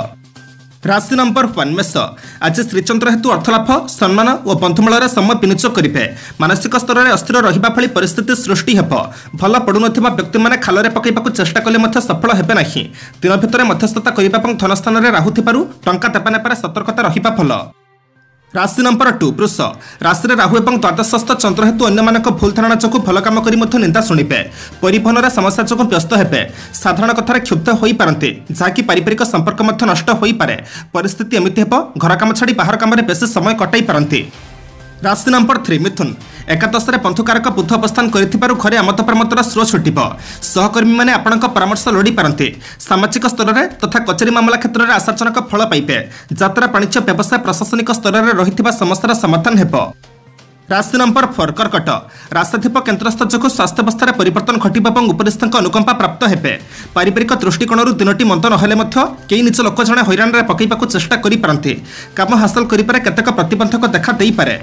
ରାଶି ନମ୍ବର ୱାନ୍ ମେଷ ଆଜି ଶ୍ରୀଚନ୍ଦ୍ର ହେତୁ ଅର୍ଥଲାଭ ସମ୍ମାନ ଓ ବନ୍ଧୁମେଳରେ ସମୟ ବିନିଯୋଗ କରିବେ ମାନସିକ ସ୍ତରରେ ଅସ୍ଥିର ରହିବା ଭଳି ପରିସ୍ଥିତି ସୃଷ୍ଟି ହେବ ଭଲ ପଡ଼ୁନଥିବା ବ୍ୟକ୍ତିମାନେ ଖାଲରେ ପକାଇବାକୁ ଚେଷ୍ଟା କଲେ ମଧ୍ୟ ସଫଳ ହେବେ ନାହିଁ ଦିନ ଭିତରେ ମଧ୍ୟସ୍ଥତା କରିବା ଏବଂ ଧନ ସ୍ଥାନରେ ରାହୁ ଥିବାରୁ ଟଙ୍କା ଦେବା ନେବାରେ ସତର୍କତା ରହିବା ଭଲ ରାଶି ନମ୍ବର ଟୁ ବୃଷ ରାଶିରେ ରାହୁ ଏବଂ ଦ୍ୱାଦଶସ୍ଥ ଚନ୍ଦ୍ର ହେତୁ ଅନ୍ୟମାନଙ୍କ ଭୁଲ ଧାରଣା ଯୋଗୁଁ ଭଲ କାମ କରି ମଧ୍ୟ ନିନ୍ଦା ଶୁଣିବେ ପରିବହନରେ ସମସ୍ୟା ଯୋଗୁଁ ବ୍ୟସ୍ତ ହେବେ ସାଧାରଣ କଥାରେ କ୍ଷୁବ୍ଧ ହୋଇପାରନ୍ତି ଯାହାକି ପାରିବାରିକ ସମ୍ପର୍କ ମଧ୍ୟ ନଷ୍ଟ ହୋଇପାରେ ପରିସ୍ଥିତି ଏମିତି ହେବ ଘର କାମ ଛାଡ଼ି ବାହାର କାମରେ ବେଶୀ ସମୟ କଟାଇ ପାରନ୍ତି ରାଶି ନମ୍ବର ଥ୍ରୀ ମିଥୁନ ଏକାଦଶରେ ବନ୍ଧୁକାରକ ବୁଧ ଅବସ୍ଥାନ କରିଥିବାରୁ ଘରେ ଆମୋଦ ପ୍ରମୋଦର ସୁଅ ଛୁଟିବ ସହକର୍ମୀମାନେ ଆପଣଙ୍କ ପରାମର୍ଶ ଲୋଡ଼ି ପାରନ୍ତି ସାମାଜିକ ସ୍ତରରେ ତଥା କଚେରୀ ମାମଲା କ୍ଷେତ୍ରରେ ଆଶାଜନକ ଫଳ ପାଇବେ ଯାତ୍ରା ବାଣିଜ୍ୟ ବ୍ୟବସାୟ ପ୍ରଶାସନିକ ସ୍ତରରେ ରହିଥିବା ସମସ୍ୟାର ସମାଧାନ ହେବ ରାଶି ନମ୍ବର ଫୋର୍ କର୍କଟ ରାଶାଧିପ କେନ୍ଦ୍ରସ୍ଥ ଯୋଗୁଁ ସ୍ୱାସ୍ଥ୍ୟାବସ୍ଥାରେ ପରିବର୍ତ୍ତନ ଘଟିବ ଏବଂ ଉପରିସ୍ଥଙ୍କ ଅନୁକମ୍ପା ପ୍ରାପ୍ତ ହେବେ ପାରିବାରିକ ଦୃଷ୍ଟିକୋଣରୁ ଦିନଟି ମନ୍ଦ ନହେଲେ ମଧ୍ୟ କେହି ନିଜ ଲୋକ ଜଣେ ହଇରାଣରେ ପକାଇବାକୁ ଚେଷ୍ଟା କରିପାରନ୍ତି କାମ ହାସଲ କରିବାରେ କେତେକ ପ୍ରତିବନ୍ଧକ ଦେଖା ଦେଇପାରେ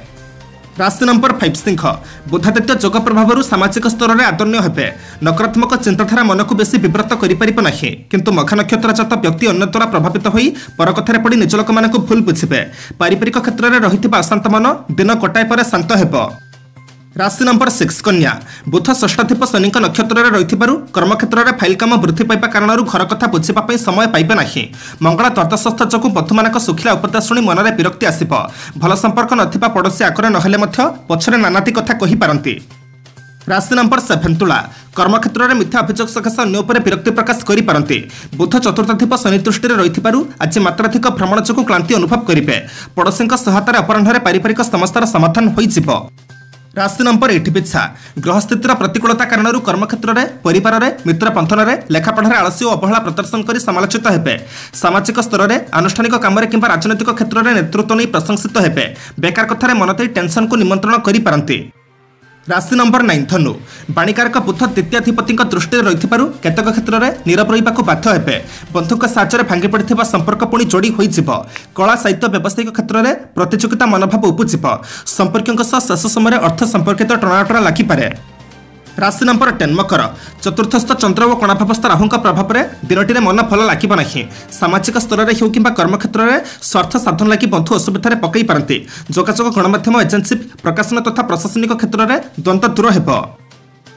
ରାଶି ନମ୍ବର ଫାଇଭ୍ ସିଂହ ବୁଧାଦିତ୍ୟ ଯୋଗ ପ୍ରଭାବରୁ ସାମାଜିକ ସ୍ତରରେ ଆଦରଣୀୟ ହେବେ ନକାରାତ୍ମକ ଚିନ୍ତାଧାରା ମନକୁ ବେଶୀ ବିବ୍ରତ କରିପାରିବ ନାହିଁ କିନ୍ତୁ ମଘା ନକ୍ଷତ୍ର ଜାତ ବ୍ୟକ୍ତି ଅନ୍ୟ ଦ୍ୱାରା ପ୍ରଭାବିତ ହୋଇ ପର କଥାରେ ପଡ଼ି ନିଜ ଲୋକମାନଙ୍କୁ ଭୁଲ ବୁଝିବେ ପାରିବାରିକ କ୍ଷେତ୍ରରେ ରହିଥିବା ଅଶାନ୍ତ ମନ ଦିନ ଗୋଟାଏ ପରେ ଶାନ୍ତ ହେବ ରାଶି ନମ୍ବର ସିକ୍ସ କନ୍ୟା, ବୁଧ ଷଷ୍ଠାଧିପ ଶନିଙ୍କ ନକ୍ଷତ୍ରରେ ରହିଥିବାରୁ କର୍ମକ୍ଷେତ୍ରରେ ଫାଇଲ୍ କାମ ବୃଦ୍ଧି ପାଇବା କାରଣରୁ ଘର କଥା ବୁଝିବା ପାଇଁ ସମୟ ପାଇବେ ନାହିଁ। ମଙ୍ଗଳ ଦ୍ୱାଦଶସ୍ଥ ଯୋଗୁଁ ବନ୍ଧୁମାନଙ୍କ ଶୁଖିଲା ଉପଦେଶ ଶୁଣି ମନରେ ବିରକ୍ତି ଆସିବ। ଭଲ ସମ୍ପର୍କ ନଥିବା ପଡ଼ୋଶୀ ଆଗରେ ନହେଲେ ମଧ୍ୟ ପଛରେ ନାନାଦି କଥା କହିପାରନ୍ତି। ରାଶି ନମ୍ବର ସେଭେନ୍ ତୁଳା, କର୍ମକ୍ଷେତ୍ରରେ ମିଥ୍ୟା ଅଭିଯୋଗ ସକାଶେ ଅନ୍ୟ ଉପରେ ବିରକ୍ତି ପ୍ରକାଶ କରିପାରନ୍ତି। ବୁଧ ଚତୁର୍ଥାଧିପ ଶନି ଦୃଷ୍ଟିରେ ରହିଥିବାରୁ ଆଜି ମାତ୍ରାଧିକ ଭ୍ରମଣ ଯୋଗୁଁ କ୍ଳାନ୍ତି ଅନୁଭବ କରିବେ। ପଡ଼ୋଶୀଙ୍କ ସହାୟତାରେ ଅପରାହ୍ନରେ ପାରିବାରିକ ସମସ୍ୟାର ସମାଧାନ ହୋଇଯିବ। ରାଶି ନମ୍ବର ଏଇଟ୍ ବିଛା, ଗ୍ରହସ୍ଥିତିର ପ୍ରତିକୂଳତା କାରଣରୁ କର୍ମକ୍ଷେତ୍ରରେ, ପରିବାରରେ, ମିତ୍ର ବନ୍ଧନରେ, ଲେଖାପଢ଼ାରେ ଆଳସ୍ୟ ଓ ଅବହେଳା ପ୍ରଦର୍ଶନ କରି ସମାଲୋଚିତ ହେବେ। ସାମାଜିକ ସ୍ତରରେ ଆନୁଷ୍ଠାନିକ କାମରେ କିମ୍ବା ରାଜନୈତିକ କ୍ଷେତ୍ରରେ ନେତୃତ୍ୱ ନେଇ ପ୍ରଶଂସିତ ହେବେ। ବେକାର କଥାରେ ମନ ଦେଇ ଟେନସନକୁ ନିମନ୍ତ୍ରଣ କରିପାରନ୍ତି। ରାଶି ନମ୍ବର ନାଇନ୍ ଧନୁ, ବାଣିକାରକ ବୁଧ ଦ୍ୱିତୀୟାଧିପତିଙ୍କ ଦୃଷ୍ଟିରେ ରହିଥିବାରୁ କେତେକ କ୍ଷେତ୍ରରେ ନୀରବ ରହିବାକୁ ବାଧ୍ୟ ହେବେ। ବନ୍ଧୁଙ୍କ ସାହାଯ୍ୟରେ ଭାଙ୍ଗି ପଡ଼ିଥିବା ସମ୍ପର୍କ ପୁଣି ଯୋଡ଼ି ହୋଇଯିବ। କଳା, ସାହିତ୍ୟ, ବ୍ୟବସାୟିକ କ୍ଷେତ୍ରରେ ପ୍ରତିଯୋଗିତା ମନୋଭାବ ଉପୁଜିବ। ସମ୍ପର୍କୀୟଙ୍କ ସହ ଶେଷ ସମୟରେ ଅର୍ଥ ସମ୍ପର୍କିତ ଟଣାଟଣା ଲାଗିପାରେ। ରାଶି ନମ୍ବର ଟେନ୍ ମକର, ଚତୁର୍ଥସ୍ଥ ଚନ୍ଦ୍ର ଓ କଣାଭାବସ୍ଥ ରାହୁଙ୍କ ପ୍ରଭାବରେ ଦିନଟିରେ ମନ ଭଲ ଲାଗିବ ନାହିଁ। ସାମାଜିକ ସ୍ତରରେ ହେଉ କିମ୍ବା କର୍ମକ୍ଷେତ୍ରରେ ସ୍ୱାର୍ଥ ସାଧନ ଲାଗି ବନ୍ଧୁ ଅସୁବିଧାରେ ପକାଇ ପାରନ୍ତି। ଯୋଗାଯୋଗ, ଗଣମାଧ୍ୟମ, ଏଜେନ୍ସି, ପ୍ରକାଶନ ତଥା ପ୍ରଶାସନିକ କ୍ଷେତ୍ରରେ ଦ୍ୱନ୍ଦ୍ୱ ଦୂର ହେବ।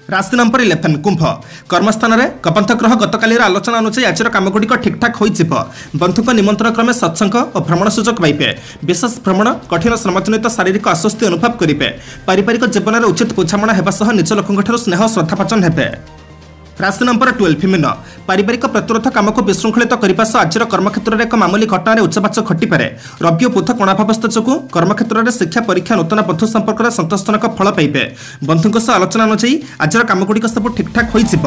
ରାଶି ନମ୍ବର ଇଲେଭେନ୍ କୁମ୍ଭ, କର୍ମସ୍ଥାନରେ କବନ୍ଧ ଗ୍ରହ ଗତକାଲିର ଆଲୋଚନା ଅନୁଯାୟୀ ଆଜିର କାମଗୁଡ଼ିକ ଠିକ୍ଠାକ୍ ହୋଇଯିବ। ବନ୍ଧୁଙ୍କ ନିମନ୍ତ୍ରଣ କ୍ରମେ ସତ୍ସଙ୍ଗ ଓ ଭ୍ରମଣ ସୁଯୋଗ ପାଇବେ। ବିଶେଷ ଭ୍ରମଣ, କଠିନ ଶ୍ରମଜନିତ ଶାରୀରିକ ଆଶ୍ୱସ୍ତି ଅନୁଭବ କରିବେ। ପାରିବାରିକ ଜୀବନରେ ଉଚିତ ବୁଝାମଣା ହେବା ସହ ନିଜ ଲୋକଙ୍କଠାରୁ ସ୍ନେହ ଶ୍ରଦ୍ଧାଭାଜନ ହେବେ। ରାଶି ନମ୍ବର ଟୁଏଲ୍ଭ ମୀନ, ପାରିବାରିକ ପ୍ରତିରୋଧ କାମକୁ ବିଶୃଙ୍ଖଳିତ କରିବା ସହ ଆଜିର କର୍ମକ୍ଷେତ୍ରରେ ଏକ ମାମୁଲି ଘଟଣାରେ ଉଚ୍ଚବାଚ ଘଟିପାରେ। ରବି ଓ ବୁଧ କୋଣାଭାବସ୍ଥ ଯୋଗୁଁ କର୍ମକ୍ଷେତ୍ରରେ ଶିକ୍ଷା, ପରୀକ୍ଷା, ନୂତନ ବନ୍ଧୁ ସମ୍ପର୍କରେ ସନ୍ତୋଷଜନକ ଫଳ ପାଇବେ। ବନ୍ଧୁଙ୍କ ସହ ଆଲୋଚନା ଅନୁଯାୟୀ ଆଜିର କାମଗୁଡ଼ିକ ସବୁ ଠିକ୍ଠାକ୍ ହୋଇଯିବ।